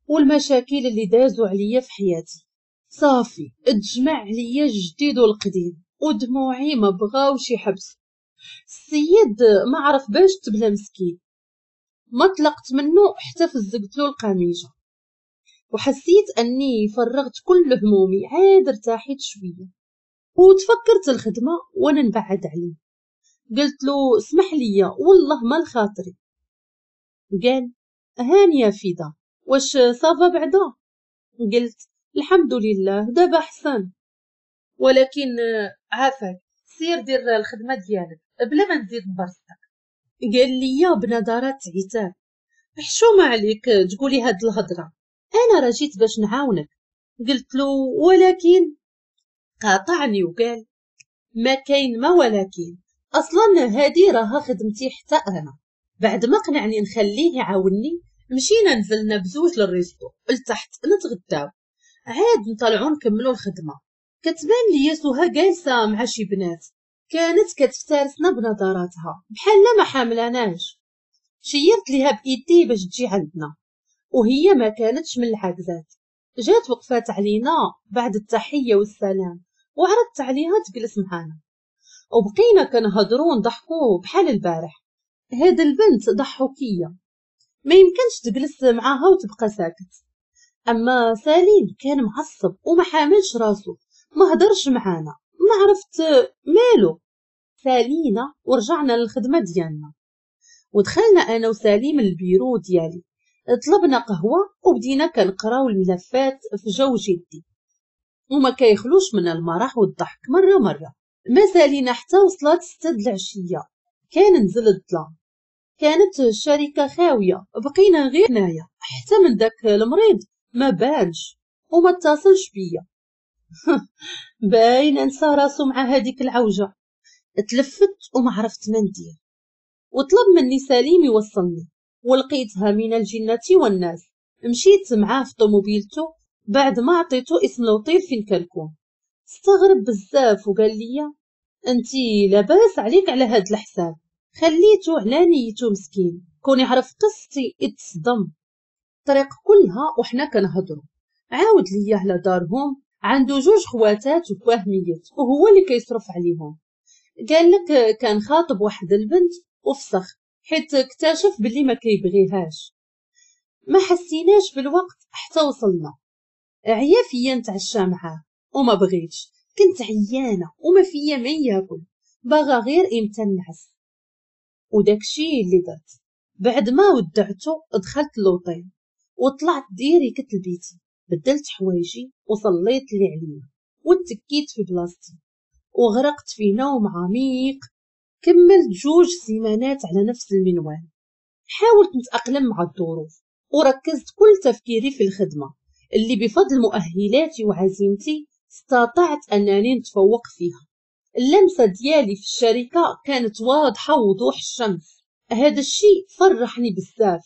والمشاكل اللي دازوا عليا في حياتي. صافي اتجمع عليا الجديد والقديم ودموعي ما بغاوش يحبسوا. السيد ما عرف باش تبلا مسكين، ما طلقت منه حتى فزقت له القميجه، وحسيت اني فرغت كل همومي. عاد ارتاحيت شوية وتفكرت الخدمة وانا نبعد عليه. قلت له اسمح لي والله ما لخاطري. قال هانيه فيدا، واش ça va بعدا؟ قلت الحمد لله دابا احسن، ولكن عافاك سير دير الخدمة ديالك بلا ما نزيد نبرزطك. قال لي بنظرات عتاب، حشومه عليك تقولي هاد الهضرة، انا راه جيت باش نعاونك. قلت له ولكن. قاطعني وقال ما كاين ما ولكن، اصلا هادي راها خدمتي حتى انا. بعد ما قنعني نخليه يعاونني مشينا نزلنا بزوج لل resto لتحت نتغداو، عاد نطلعو نكملو الخدمة. كتبان ليا سهى جالسة مع شي بنات، كانت كتفترسنا بنظراتها بحال ما حاملاناش. شيرت ليها بايدي باش تجي عندنا، وهي ما كانتش من العاكزات. جات وقفات علينا بعد التحية والسلام وعرضت عليها تجلس معانا، وبقينا كنهضروا ونضحكوا بحال البارح. هاد البنت ضحوكيه، ما يمكنش تجلس معاها وتبقى ساكت. اما سليم كان معصب وما حاملش راسو، ما هدرش معانا، ما عرفت مالو. سالينا ورجعنا للخدمة ديالنا، ودخلنا انا وسليم البيرو ديالي، طلبنا قهوة وبدينا كنقراو الملفات في جو جدي وما كيخلوش من المرح والضحك مرة مرة. ما سالينا حتى وصلت 6 العشية، كان نزل الظلام، كانت الشركة خاوية، بقينا غير هنايا حتى من داك المريض ما بانش وما اتصلش بيا. باين انسى راسو مع هذيك العوجه. تلفت وما عرفت ما ندير، وطلب مني سليم يوصلني، ولقيتها من الجنة والناس. مشيت معاه في طوموبيلته بعد ما عطيته اسم الوطيل فين كنكون. استغرب بزاف وقال لي انتي لاباس عليك على هاد الحساب. خليته على نيته مسكين، كون يعرف قصتي اتصدم. الطريق كلها وحنا كنهضروا، عاود ليا على دارهم، عنده 2 خواتات وباه ميت وهو اللي كيصرف عليهم. قال لك كان خاطب واحد البنت وفسخ حيت اكتشف باللي ما كيبغيهاش. ما حسيناش بالوقت حتى وصلنا. عيا فيا نتعشى معاه وما بغيتش، كنت عيانه وما فيا ما ياكل، باغا غير امتى نعس. وداكشي اللي درت. بعد ما ودعته دخلت لوطيل وطلعت direct لبيتي، بدلت حوايجي وصليت اللي عليا وتكيت في بلاصتي وغرقت في نوم عميق. كملت 2 سيمانات على نفس المنوال. حاولت نتأقلم مع الظروف وركزت كل تفكيري في الخدمة اللي بفضل مؤهلاتي وعزيمتي استطعت أنني نتفوق فيها. اللمسة ديالي في الشركة كانت واضحة وضوح الشمس. هذا الشيء فرحني بزاف،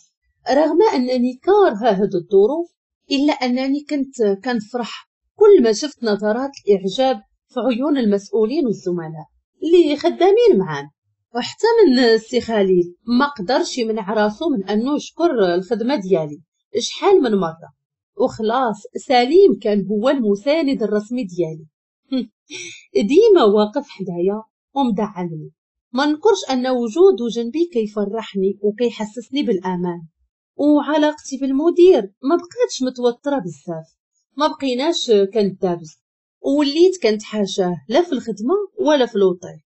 رغم أنني كارهة هذه الظروف إلا أنني كنت كنفرح كل ما شفت نظرات الإعجاب في عيون المسؤولين والزملاء اللي خدامين معانا. وحتى من السي خليل ما قدرش يمنع راسو من انه يشكر الخدمة ديالي شحال من مرة. وخلاص سليم كان هو المساند الرسمي ديالي، ديما واقف حدايا ومدعمني. ما نكرش ان وجوده جنبي كيفرحني وكيحسسني بالامان. وعلاقتي بالمدير ما بقاتش متوترة بزاف، ما بقيناش كندابز، ووليت كنتحاشاه لا في الخدمة ولا في l'hôtel،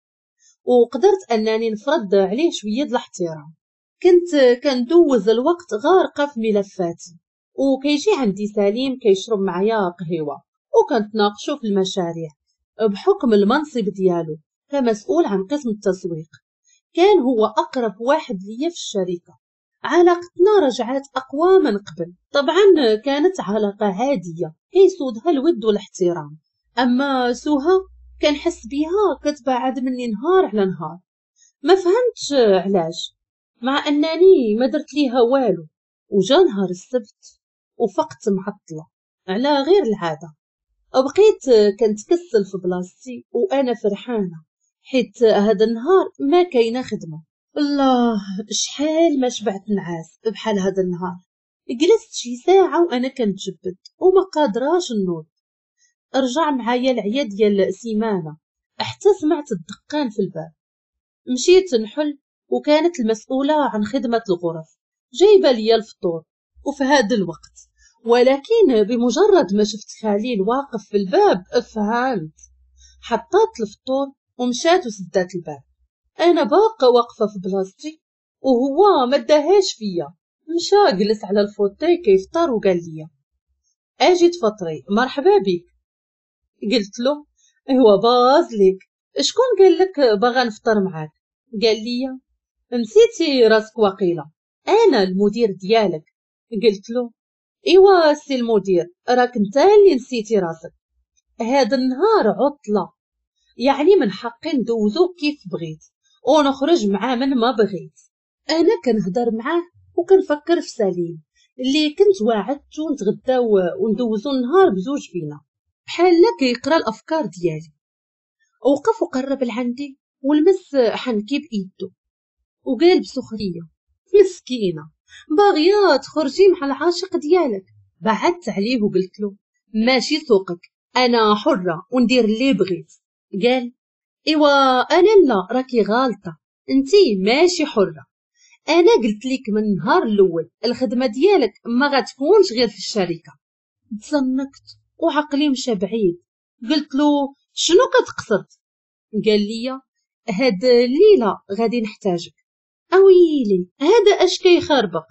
وقدرت انني نفرض عليه شوية د الاحترام. كنت كندوز الوقت غارقة في ملفاتي، وكيجي عندي سليم كيشرب معايا قهوة وكنتناقشوا في المشاريع بحكم المنصب ديالو كمسؤول عن قسم التسويق. كان هو اقرب واحد ليا في الشركة. علاقتنا رجعت اقوى من قبل، طبعا كانت علاقة عادية كيسودها الود والاحترام. اما سوها كنحس بيها كتبعد مني نهار على نهار، ما فهمتش علاش، مع انني ما درت ليها والو. وجا نهار السبت وفقت معطلة على غير العادة، بقيت كنتكسل في بلاصتي وانا فرحانة حيت هذا النهار ما كاينه خدمة. الله شحال ما شبعت نعاس بحال هذا النهار. جلست شي ساعة وانا كنتجبد وما قادراش نوض. رجع معايا العيا ديال سيمانه حتى سمعت الدقان في الباب. مشيت نحل وكانت المسؤولة عن خدمة الغرف جايبه ليا الفطور وفي هذا الوقت. ولكن بمجرد ما شفت خليل واقف في الباب فهمت. حطات الفطور ومشات وسدات الباب. انا باقا واقفة في بلاصتي وهو ما داهاش فيا. مشى جلس على ال fauteuil كيفطر وقال لي اجي تفطري مرحبا بك. قلت له هو باز لك، شكون قال لك باغا نفطر معاك؟ قال لي نسيتي راسك وقيله، انا المدير ديالك. قلت له ايوا سي المدير راك انت اللي نسيتي راسك، هذا النهار عطله يعني من حقي ندوزو كيف بغيت ونخرج معاه من ما بغيت. انا كنهضر معاه وكنفكر في سليم اللي كنت واعدته نتغداو وندوزو النهار بزوج بينا، بحال كيقرا الافكار ديالي. وقف وقرب لعندي ولمس حنكي بايدو وقال بسخريه مسكينه باغية تخرجي مع العاشق ديالك. بعدت عليه وقلت له ماشي سوقك، انا حره وندير اللي بغيت. قال ايوا انا لا، راكي غالطه، انتي ماشي حره. انا قلت لك من النهار الاول الخدمة ديالك ما غتكونش غير في الشركة. تزنكت وعقلي مشى بعيد. قلت له شنو كتقصد؟ قال لي هاد الليلة غادي نحتاجك. اويلي هذا اش كيخربق.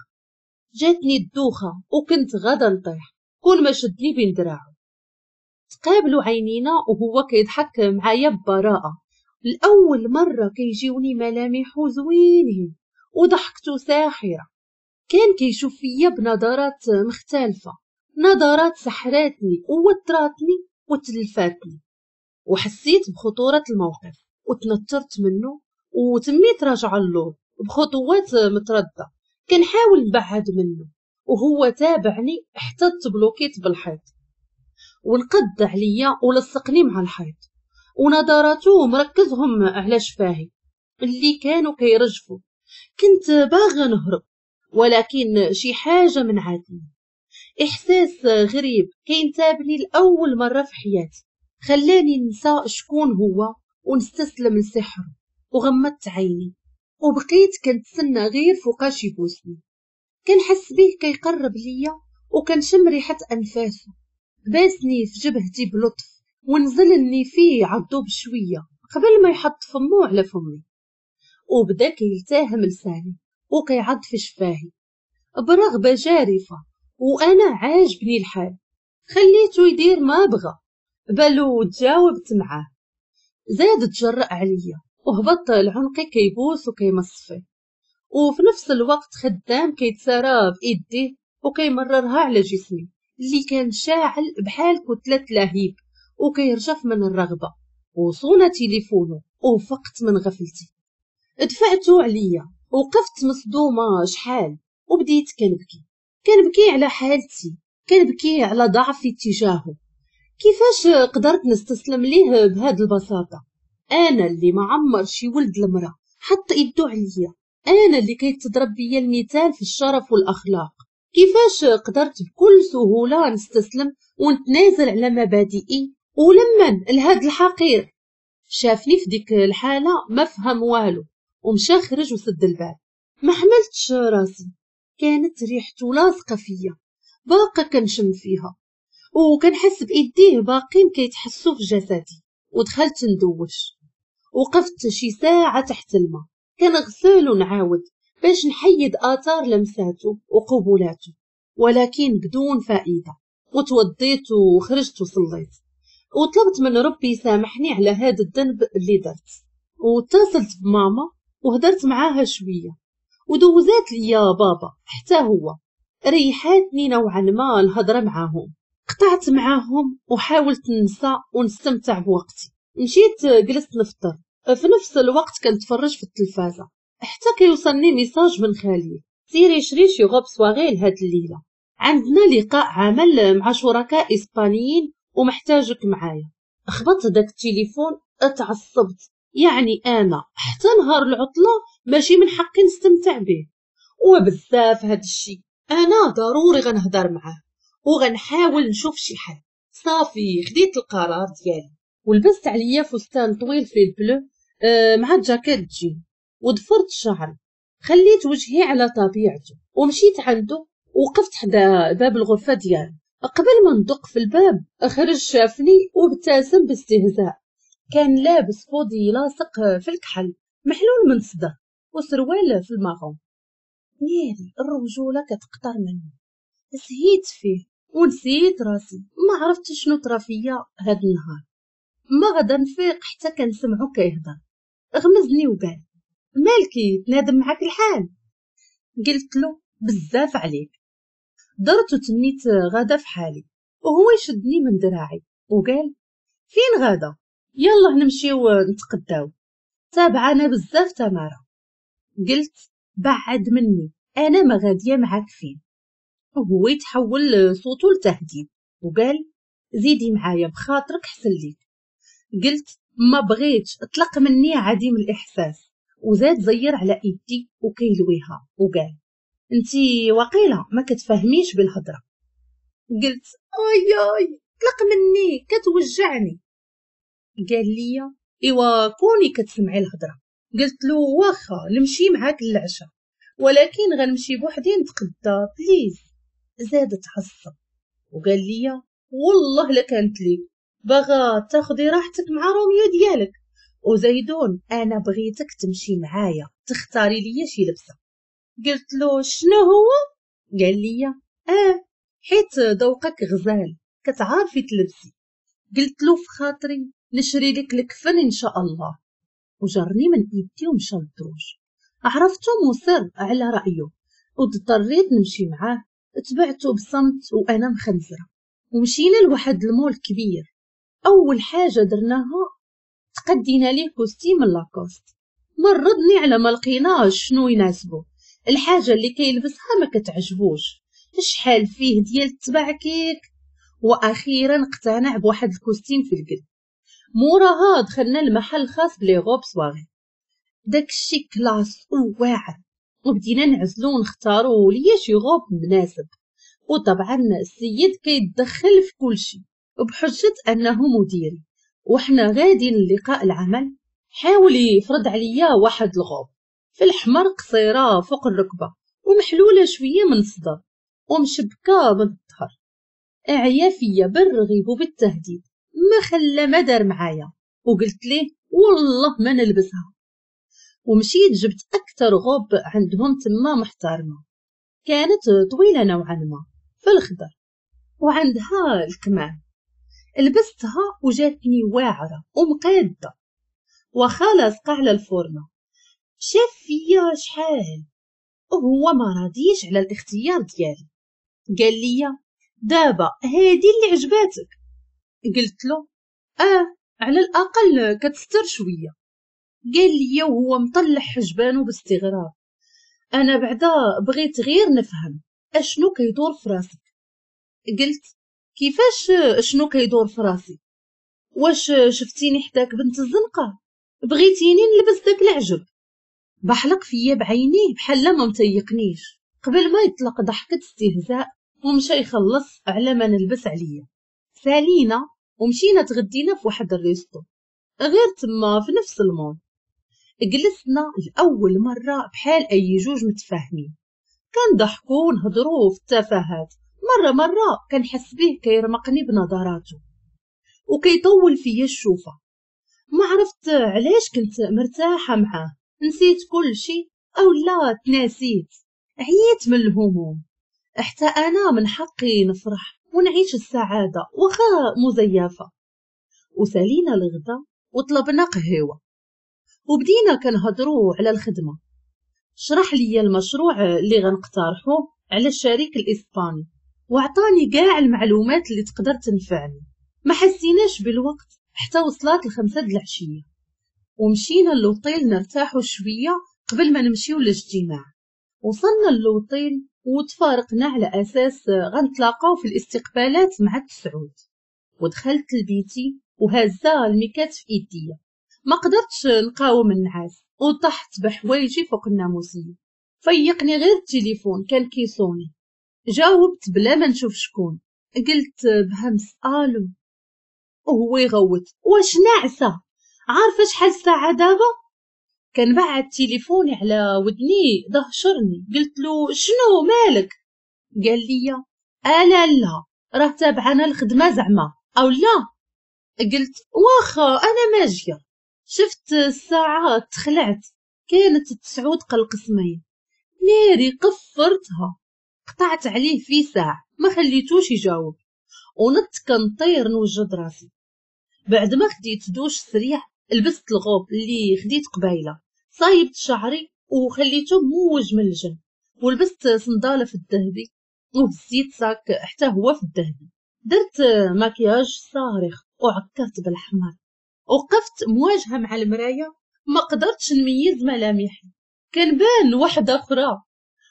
جاتني الدوخه وكنت غادا نطيح كل ما شدني بين دراعو. تقابلوا عينينا وهو كيضحك معايا ببراءه. الاول مرة كيجيوني ملامحو زوينين وضحكته ساحرة. كان كيشوف فيا بنظرات مختلفة، نظرات سحراتني ووتراتني وتلفاتني، وحسيت بخطورة الموقف وتنترت منه وتميت راجعه اللور بخطوات مترددة كنحاول نبعد منه، وهو تابعني حتى تبلوكيت بالحيط ونقد عليا ولصقني مع الحيط، ونظراته مركزهم على شفاهي اللي كانوا كيرجفوا. كنت باغا نهرب ولكن شي حاجة منعتني. احساس غريب كينتابني لاول مرة في حياتي خلاني ننسى شكون هو ونستسلم لسحره. وغمضت عيني وبقيت كنتسنى غير فوقاش يبوسني. كنحس به كيقرب ليا وكنشم ريحه انفاسه. باسني في جبهتي بلطف ونزلني فيه عضو بشوية قبل ما يحط فمو على فمي، وبدا كيلتهم لساني وكيعض في شفاهي برغبه جارفه، وانا عاجبني الحال. خليته يدير ما بغى بل وتجاوبت معاه. زاد تجرأ عليا وهبط لعنقي كيبوس وكيمص فيه، وفي نفس الوقت خدام كيتسارى بايديه وكيمررها على جسمي اللي كان شاعل بحال كتلة لهيب وكيرجف من الرغبة. وصونا تليفونه وفقت من غفلتي، دفعته عليا وقفت مصدومة شحال وبديت كنبكي. كنبكي على حالتي، كنبكي على ضعفي تجاهه. كيفاش قدرت نستسلم ليه بهاد البساطة؟ انا اللي ما عمر شي ولد المراة حط ايدو عليا، انا اللي كيتضرب بيا المثال في الشرف والاخلاق. كيفاش قدرت بكل سهولة نستسلم ونتنازل على مبادئي ولمن لهاد الحقير؟ شافني في ديك الحالة ما فهم والو ومشى خرج وسد الباب. ما حملتش راسي، كانت ريحته لاصقه فيا، باقا كنشم فيها وكنحس بايديه باقين كيتحسوا في جسدي. ودخلت ندوش، وقفت شي ساعة تحت الماء كنغسل ونعاود باش نحيد اثار لمساته وقبولاته، ولكن بدون فائدة. وتوضيت وخرجت وصليت وطلبت من ربي يسامحني على هذا الذنب اللي درت. واتصلت بماما وهدرت معاها شوية ودوزات ليا بابا حتى هو، ريحاتني نوعا ما الهضرة معاهم. قطعت معاهم وحاولت ننسى ونستمتع بوقتي. مشيت جلست نفطر، في نفس الوقت كنتفرج في التلفازه حتى كيوصلني message من خالي: سيري شري شي robe soirée لهاد الليلة، عندنا لقاء عمل مع شركاء اسبانيين ومحتاجك معايا. خبطت داك التليفون، اتعصبت، يعني انا حتى نهار العطلة ماشي من حقي نستمتع به، وبزاف هاد الشيء. انا ضروري غنهضر معاه وغنحاول نشوف شي حل. صافي خديت القرار ديالي ولبست عليا فستان طويل في ال bleu مع جاكيت جين وضفرت شعري، خليت وجهي على طبيعته ومشيت عنده. وقفت حدا باب الغرفة ديالو. قبل ما ندق في الباب خرج شافني وابتسم باستهزاء. كان لابس body لاصق في الكحل محلول من الصدر وسروال في ال marron. ناري الرجولة كتقطر منه. سهيت فيه ونسيت راسي، ما عرفت شنو طرا فيا هاد النهار. ما غدا نفيق حتى كنسمعو كيهضر. غمزني وقال: مالكي تنادم معاك الحال؟ قلت له: بزاف عليك. درت وتميت غدا في حالي وهو يشدني من دراعي وقال: فين غدا؟ يلا نمشيو نتقداو، تابعانا بزاف تمارة. قلت: بعد مني، انا ما غادية معاك فين. وهو يتحول صوته لتهديد وقال: زيدي معايا بخاطرك حسن ليك. قلت: ما بغيتش، اطلق مني عديم الاحساس. وزاد زير على ايدي وكيلويها وقال: انتي وقيله ما كتفهميش بالهضره. قلت: اي اي اطلق مني كتوجعني. قال لي: ايوا كوني كتسمعي الهضرة. قلت له: واخا نمشي معاك للعشاء، ولكن غنمشي بوحدي نتقدى please. زاد تعصب وقال لي: والله لا كانت ليك، باغا تاخدي راحتك مع روميو ديالك، وزيدون انا بغيتك تمشي معايا تختاري ليا شي لبسه. قلت له: شنو هو؟ قال لي: حيت ذوقك غزال كتعرفي تلبسي. قلت له في خاطري نشري لك الكفن ان شاء الله. وجرني من ايدي ومشى للدروج. عرفته مصر على رايه واضطريت نمشي معاه. تبعته بصمت وانا مخنزره. ومشينا لواحد المول كبير. اول حاجة درناها تقدينا ليه costume Lacoste. مرضني على ما لقيناش شنو يناسبه، الحاجة اللي كيلبسها ما كتعجبوش، شحال فيه ديال التبعكيك. واخيرا اقتنع بواحد ال costume في القلب. موراها دخلنا لمحل خاص ب les robes soirée، داكشي classe وواعر، وبدينا نعزلو ونختارو ليا شي غوب مناسب. وطبعا السيد كيتدخل في كلشي وبحجة انه مديري. وحنا غاديين للقاء العمل حاول يفرض عليا واحد الغوب في الحمر قصيرة فوق الركبة ومحلوله شوية من الصدر ومشبكه من الظهر. اعيا فيا بالرغيب وبالتهديد، ما خلى ما دار معايا. وقلت ليه: والله ما نلبسها. ومشيت جبت اكثر غوب عندهم تما محترمه، كانت طويلة نوعا ما في الخضر وعندها الكمام. لبستها وجاتني واعرة ومقاده وخا لاصقه على الفورمة. شاف فيا شحال وهو ما راضيش على الاختيار ديالي. قال لي: دابا هادي اللي عجباتك؟ قلت له: على الاقل كتستر شوية. قال لي وهو مطلع حجبانه باستغراب: انا بعدا بغيت غير نفهم اشنو كيدور في راسك. قلت: كيفاش شنو كيدور في راسي؟ واش شفتيني حداك بنت الزنقة؟ بغيتيني نلبس داك العجب؟ بحلق فيا بعينيه بحال ما متيقنيش، قبل ما يطلق ضحكة استهزاء ومشى يخلص على ما نلبس عليا. سالينا ومشينا تغدينا في واحد ال resto غير تما في نفس المول. جلسنا لأول مرة بحال أي جوج متفاهمين، كنضحكو ونهضرو في التفاهات. مرة مرة كنحس به كيرمقني بنظراته وكيطول فيا الشوفة. ما عرفت علاش كنت مرتاحة معاه، نسيت كل شيء أو لا تناسيت، عييت من الهموم. حتى أنا من حقي نفرح ونعيش السعادة وخا مزيفة. وسالينا الغدا وطلبنا قهوة وبدينا كنهضروا على الخدمة. شرح لي المشروع اللي غنقترحه على الشريك الإسباني وعطاني كاع المعلومات اللي تقدر تنفعني. ما حسيناش بالوقت حتى وصلت 5 د العشية ومشينا للوطيل نرتاحوا شوية قبل ما نمشيو للاجتماع. وصلنا للوطيل وتفارقنا على أساس غنتلاقاو في الاستقبالات مع 9. ودخلت لبيتي وهزا الميكات في ايديا، ما قدرتش نقاوم النعاس وطحت بحوايجي فوق الناموسيه. فيقني غير التليفون كان كيصوني. جاوبت بلا ما نشوف شكون، قلت بهمس الو، وهو يغوت واش ناعسه؟ عارفه شحال الساعة دابا؟ كنبعد تليفوني على ودني ضهشرني. قلت له شنو مالك؟ قال لي الا لا راه تابعنا الخدمة زعما او لا. قلت واخا انا ماجيه. شفت الساعة تخلعت، كانت 9 قل قسمين. ناري قفرتها، قطعت عليه في ساعة ما خليتوش يجاوب، ونط كنطير نوجد راسي. بعد ما خديت دوش سريع لبست الغوب اللي خديت قبيلة، صايبت شعري وخليته موج من الجنب، ولبست صنداله في الذهبي وهزيت sac حتى هو في الذهبي. درت مكياج صارخ وعكرت بالحمر. وقفت مواجهة مع المراية، ما قدرتش نميز ملامحي، كنبان واحدة اخرى.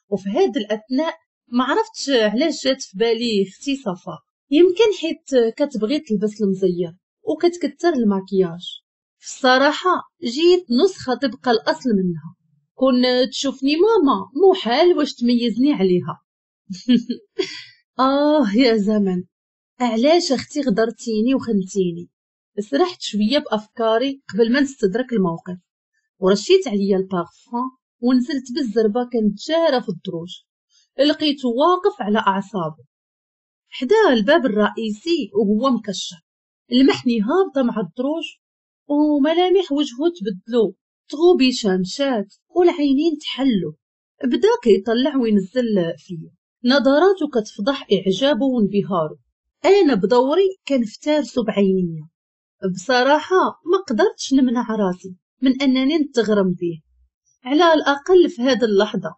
وفي هذا الاثناء ما عرفتش علاش جات في بالي اختي صفاء، يمكن حيت كتبغي تلبس المزير وكتكتر الماكياج. في الصراحة جيت نسخه تبقى الاصل منها، كون تشوفني ماما محال واش تميزني عليها. آه يا زمن، علاش اختي غدرتيني وخنتيني؟ سرحت شوية بافكاري قبل ما نستدرك الموقف، ورشيت عليا البارفان ونزلت بالزربه كنتجارى في الدروج. لقيته واقف على اعصابه حدا الباب الرئيسي وهو مكشر. لمحني هابطة مع الدروج وملامح وجهه تبدلو، تغوبيشه مشات والعينين تحلو. بدا كيطلع وينزل فيا، نظراته كتفضح اعجابه وانبهاره. انا بدوري كنفترسو بعينيا. بصراحة ما قدرتش نمنع راسي من انني نتغرم به على الاقل في هذه اللحظة.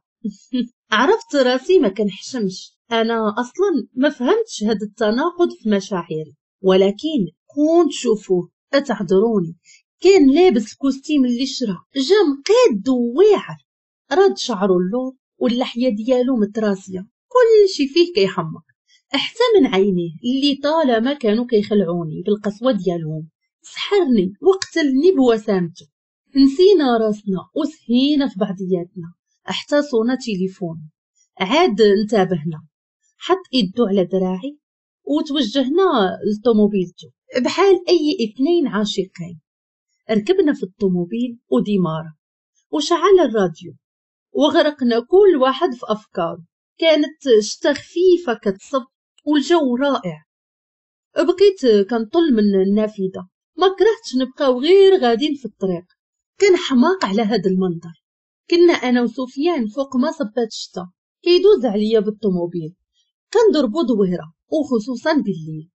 عرفت راسي ما كنحشمش، انا اصلا ما فهمتش هذا التناقض في مشاعري، ولكن كون تشوفوه اتعذروني. كان لابس ال costume اللي شرا، جا مقاد وواعر، راد شعره اللور واللحية ديالو متراسيه، كل شي فيه كيحمق، حتى من عينيه اللي طالما كانوا كيخلعوني بالقسوه ديالهم. سحرني وقتلني بوسامته. نسينا راسنا وسهينا في بعضياتنا حتى صونا تليفون. عاد انتبهنا، حط يدو على دراعي وتوجهنا لطوموبيلته بحال اي اثنين عاشقين. ركبنا في الطوموبيل وديمارة وشعل الراديو وغرقنا كل واحد في افكاره. كانت شتا خفيفة كتصب والجو رائع. بقيت كنطل من النافذة، ما كرهتش نبقاو غير غادين في الطريق. كان حماق على هذا المنظر. كنا انا وسفيان فوق ما صبات الشتا كيدوز عليا بالطوموبيل، كنضربو دويره وخصوصا بالليل.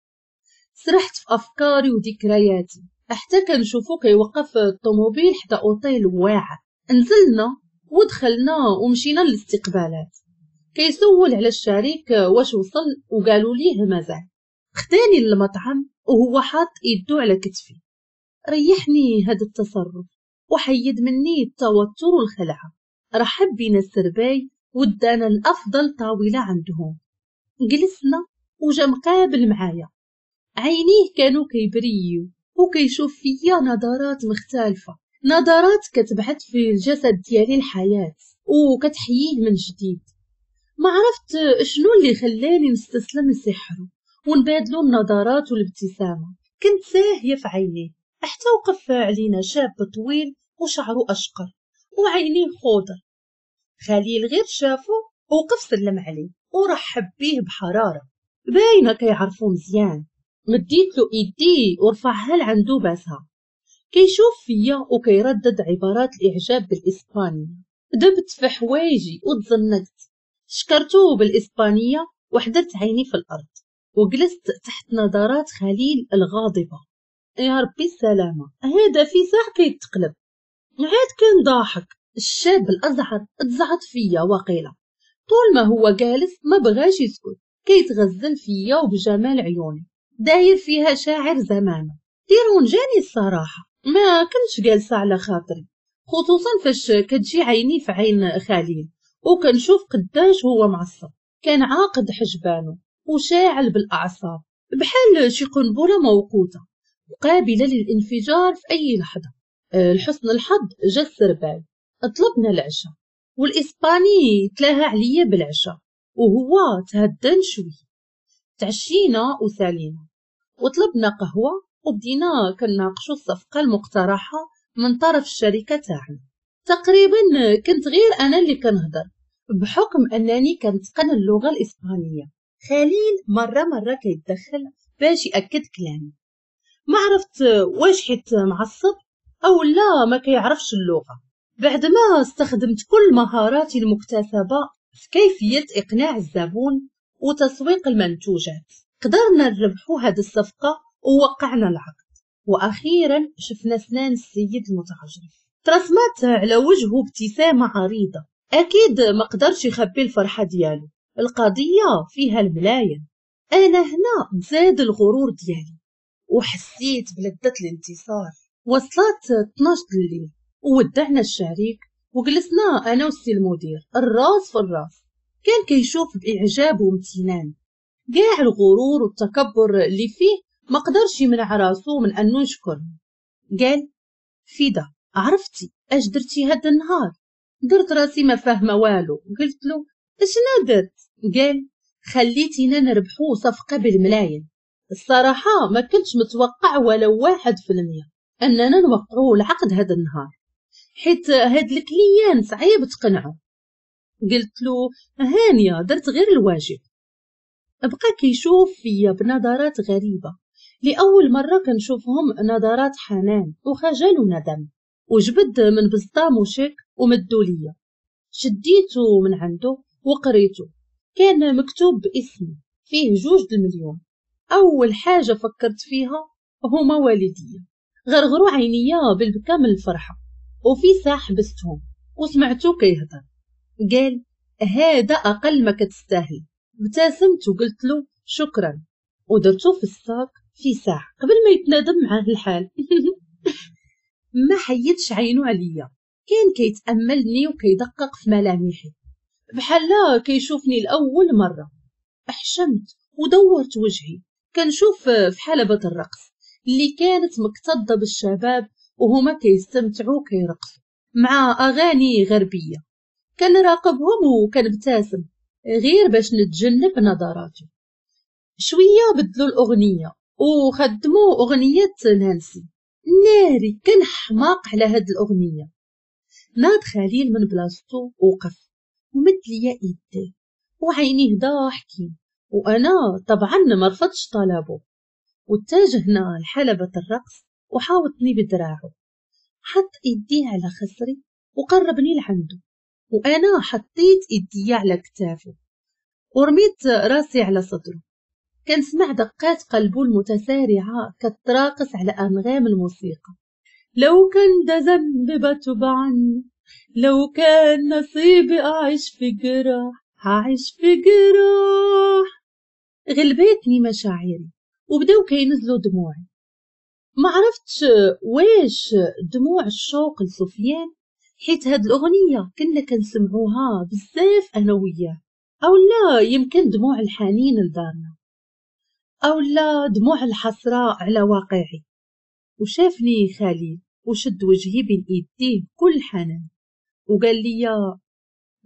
سرحت في افكاري وذكرياتي حتى كنشوفو كيوقف الطوموبيل حدا اوتيل واعر. نزلنا ودخلنا ومشينا للاستقبالات. كيسول على الشريك واش وصل وقالوا ليه مازال. خداني للمطعم وهو حاط يدو على كتفي. ريحني هذا التصرف وحيد مني التوتر والخلعه. رحب بينا السرباي ودانا الافضل طاولة عندهم. جلسنا وجا مقابل معايا، عينيه كانوا كيبريو وكيشوف فيا نظرات مختلفة. نظرات كتبعث في الجسد ديالي الحياة وكتحييه من جديد. ما عرفت شنو اللي خلاني نستسلم لسحره ونبادلو النظرات والابتسامة. كنت ساهية في عينيه حتى وقف علينا شاب طويل وشعره أشقر وعينيه خضر. خليل غير شافه وقف سلم عليه ورحب بيه بحرارة، باينة كيعرفو مزيان. مديت له ايدي ورفعها لعندو باسها. كيشوف فيا وكيردد عبارات الاعجاب بالاسبانيه. دبت في حوايجي وتزنقت، شكرته بالاسبانيه وحدرت عيني في الارض وجلست تحت نظرات خليل الغاضبه. يا ربي السلامة، هذا في ساعة كيتقلب. عاد كان ضاحك الشاب الازعر، تزعط فيا وقيله. طول ما هو جالس ما بغاش يسكت، كيتغزل فيا وبجمال عيوني، داير فيها شاعر زمانه. ديرونجاني الصراحة، ما كنتش جالسة على خاطري، خصوصا فاش كتجي عيني في عين خليل وكنشوف قداش هو معصب. كان عاقد حجبانه وشاعل بالاعصاب بحال شي قنبلة موقوته وقابله للانفجار في اي لحظة. لحسن الحظ جا السربال، طلبنا العشاء والاسباني تلاها عليا بالعشاء وهو تهدن شوي. تعشينا وسالينا وطلبنا قهوة وبدينا كنناقشوا الصفقة المقترحة من طرف الشركة تاعنا. تقريبا كنت غير انا اللي كنهضر بحكم انني كنتقن اللغة الاسبانية. خليل مرة مرة كيتدخل باش ياكد كلامي. ما عرفت واش حيت معصب او لا ما كيعرفش اللغة. بعد ما استخدمت كل مهاراتي المكتسبة في كيفية اقناع الزبون وتسويق المنتوجات، قدرنا نربحوا هذه الصفقة ووقعنا العقد. واخيرا شفنا سنان السيد المتعجرف، ترسمت على وجهه ابتسامة عريضة. اكيد ما قدرش يخبي الفرحة ديالو، القضية فيها الملايين. انا هنا تزاد الغرور ديالي وحسيت بلذة الانتصار. وصلت 12 الليل وودعنا الشريك وجلسنا انا والسي المدير الراس في الراس. كان كيشوف باعجاب وامتنان، كاع الغرور والتكبر اللي فيه ما قدرش يمنع راسو من انه يشكرني. قال فيدا، عرفتي اش درتي هذا النهار؟ درت راسي ما فاهمه والو. قلت له اشنا درت؟ قال خليتينا نربحو صفقة بالملايين. الصراحة ما كنتش متوقع ولو 1% اننا نوقعو العقد هذا النهار، حيت هاد ال client صعيب تقنعو. قلت له هانيه، درت غير الواجب. بقى كيشوف فيا بنظرات غريبة، لاول مرة كنشوفهم نظرات حنان وخجل وندم. وجبد من بزطامو شيك ومدو ليا، شديته من عنده وقريته. كان مكتوب باسمي، فيه 2 المليون. اول حاجة فكرت فيها هما والديا، غرغروا عينيا بالبكا من الفرحة. وفي ساعة حبستهم وسمعتو كيهضر، قال هذا اقل ما كتستاهل. ابتسمت وقلت له شكرا ودرتو في الساك في ساعة قبل ما يتنادم معاه الحال. ما حيدش عينو عليا، كان كيتاملني وكيدقق في ملامحي بحال كيشوفني لاول مرة. حشمت ودورت وجهي كنشوف في حلبة الرقص اللي كانت مكتظه بالشباب وهما كيستمتعوا وكيرقصوا مع اغاني غربية. كنراقبهم وكنبتسم غير باش نتجنب نظراته. شوية بدلوا الاغنية وخدموا اغنية نانسي. ناري كنحماق على هاد الاغنية. ناض خليل من بلاصتو وقف ومد ليا ايديه وعينيه ضاحكين، وانا طبعا ما رفضتش طلبه. واتجهنا لحلبة الرقص وحاوطني بدراعه، حط ايديه على خصري وقربني لعنده، وانا حطيت ايدي على كتافه ورميت راسي على صدره. كنسمع دقات قلبه المتسارعه كتراقص على انغام الموسيقى. لو كان ده ذنب بتوب عنه، لو كان نصيبي اعيش في جراح هعيش في جراح. غلبتني مشاعري وبداو كينزلوا دموعي. ما عرفتش واش دموع الشوق لسفيان، حيت هاد الاغنية كنا كنسمعوها بزاف انا وياه، او لا يمكن دموع الحنين لدارنا، او لا دموع الحسرة على واقعي. وشافني خليل وشد وجهي بين ايديه بكل حنان وقال لي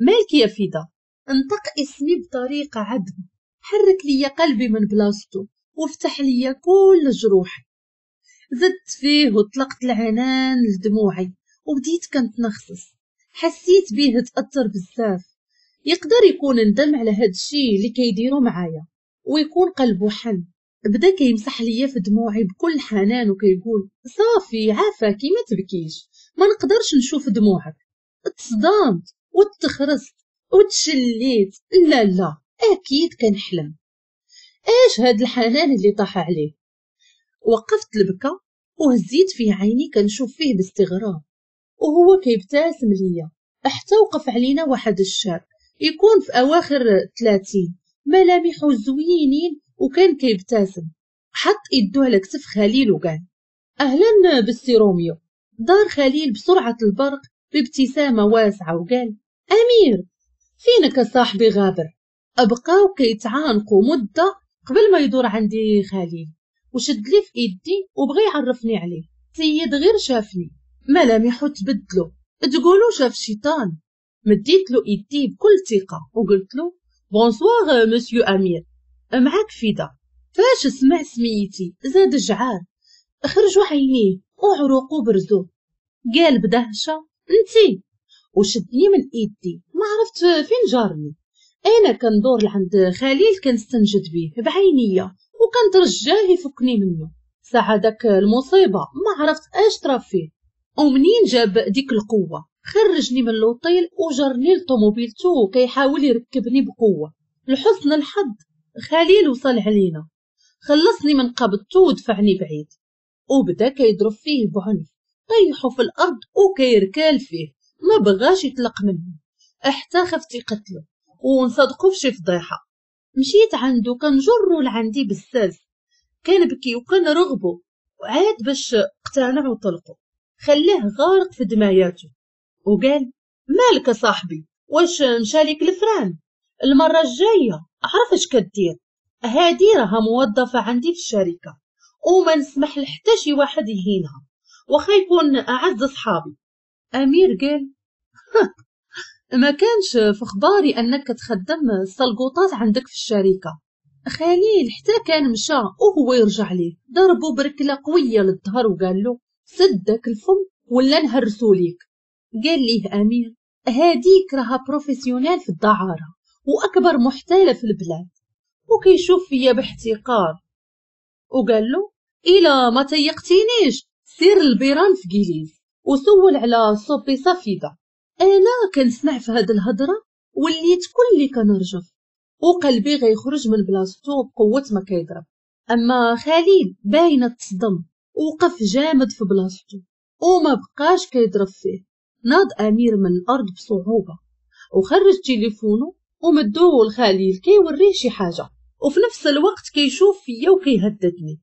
مالك يا فدا. انطق اسمي بطريقة عذبة، حرك لي قلبي من بلاصتو وفتح لي كل جروحي. زدت فيه وطلقت العنان لدموعي وبديت كنتنخصص. حسيت بيه تأثر بزاف، يقدر يكون ندم على هاد الشي اللي كيديرو معايا ويكون قلبه حن. بدا كيمسح ليا في دموعي بكل حنان وكيقول صافي عافاكي ما تبكيش، ما نقدرش نشوف دموعك. تصدمت وتخرست وتشليت، لا لا اكيد كنحلم، اش هاد الحنان اللي طاح عليه. وقفت البكا وهزيت فيه عيني كنشوف فيه باستغراب وهو كيبتسم ليا، حتى وقف علينا واحد الشاب يكون في اواخر 30، ملامحه زوينين وكان كيبتسم. حط يدو على كتف خليل وقال اهلا بالسي روميو. دار خليل بسرعة البرق بابتسامة واسعة وقال امير فينك صاحبي غابر. ابقاو كيتعانقوا مده قبل ما يدور عندي خليل وشد لي في ايدي وبغى يعرفني عليه. سيد غير شافني ملامحه تبدلو، تقولوا شاف شيطان. مديت له ايدي بكل ثقة وقلت له bonsoir monsieur امير، معاك فدا. فاش سمع سميتي زاد جعار، خرجوا عينيه وعروقو برزو. قال بدهشه انتي، وشدني من ايدي ما عرفت فين جارني. انا كندور لعند خليل كنستنجد بيه بعينيا وكنترجاه يفكني منه. ساعة داك المصيبة ما عرفت اش طرا فيه ومنين جاب ديك القوة. خرجني من l'hôtel وجرني لطوموبيلتو كيحاول يركبني بقوة. لحسن الحظ خليل وصل علينا، خلصني من قبضته ودفعني بعيد وبدا كيضرب فيه بعنف، طيحو في الارض وكيركال فيه، ما بغاش يطلق منه حتى خفت يقتلو ونصدقو في شي فضيحة. مشيت عنده كنجرو لعندي بزاف، كنبكي وكنرغبو، وعاد باش اقتنع وطلقو. خلاه غارق في دماياته وقال مالك صاحبي، واش مشاليك الفران؟ المرة الجاية عرف اش كدير، هادي راها موظفة عندي في الشركة وما نسمح لحتى شي واحد يهينها واخا يكون اعز صحابي. امير قال ما كانش في خباري انك تخدم السلقوطات عندك في الشركة. خليل حتى كان مشى وهو يرجع ليه، ضربو بركله قوية للظهر وقال له سدك الفم ولا نهرسو ليك. قال ليه امير هاديك راها professionnelle في الدعاره واكبر محتاله في البلاد، وكيشوف فيا باحتقار وقال له الا ما تيقتينيش سير البيران في جيليز وسول على صوبي صفيده. انا كنسمع في هاد الهضرة وليت كلي كنرجف وقلبي غيخرج من بلاصتو بقوة ما كيضرب. اما خليل باينة تصدم وقف جامد في بلاصتو وما بقاش كيضرب فيه. ناض امير من الارض بصعوبة وخرج تليفونه ومدوه لخليل كيوريه شي حاجة، وفي نفس الوقت كيشوف فيا وكيهددني.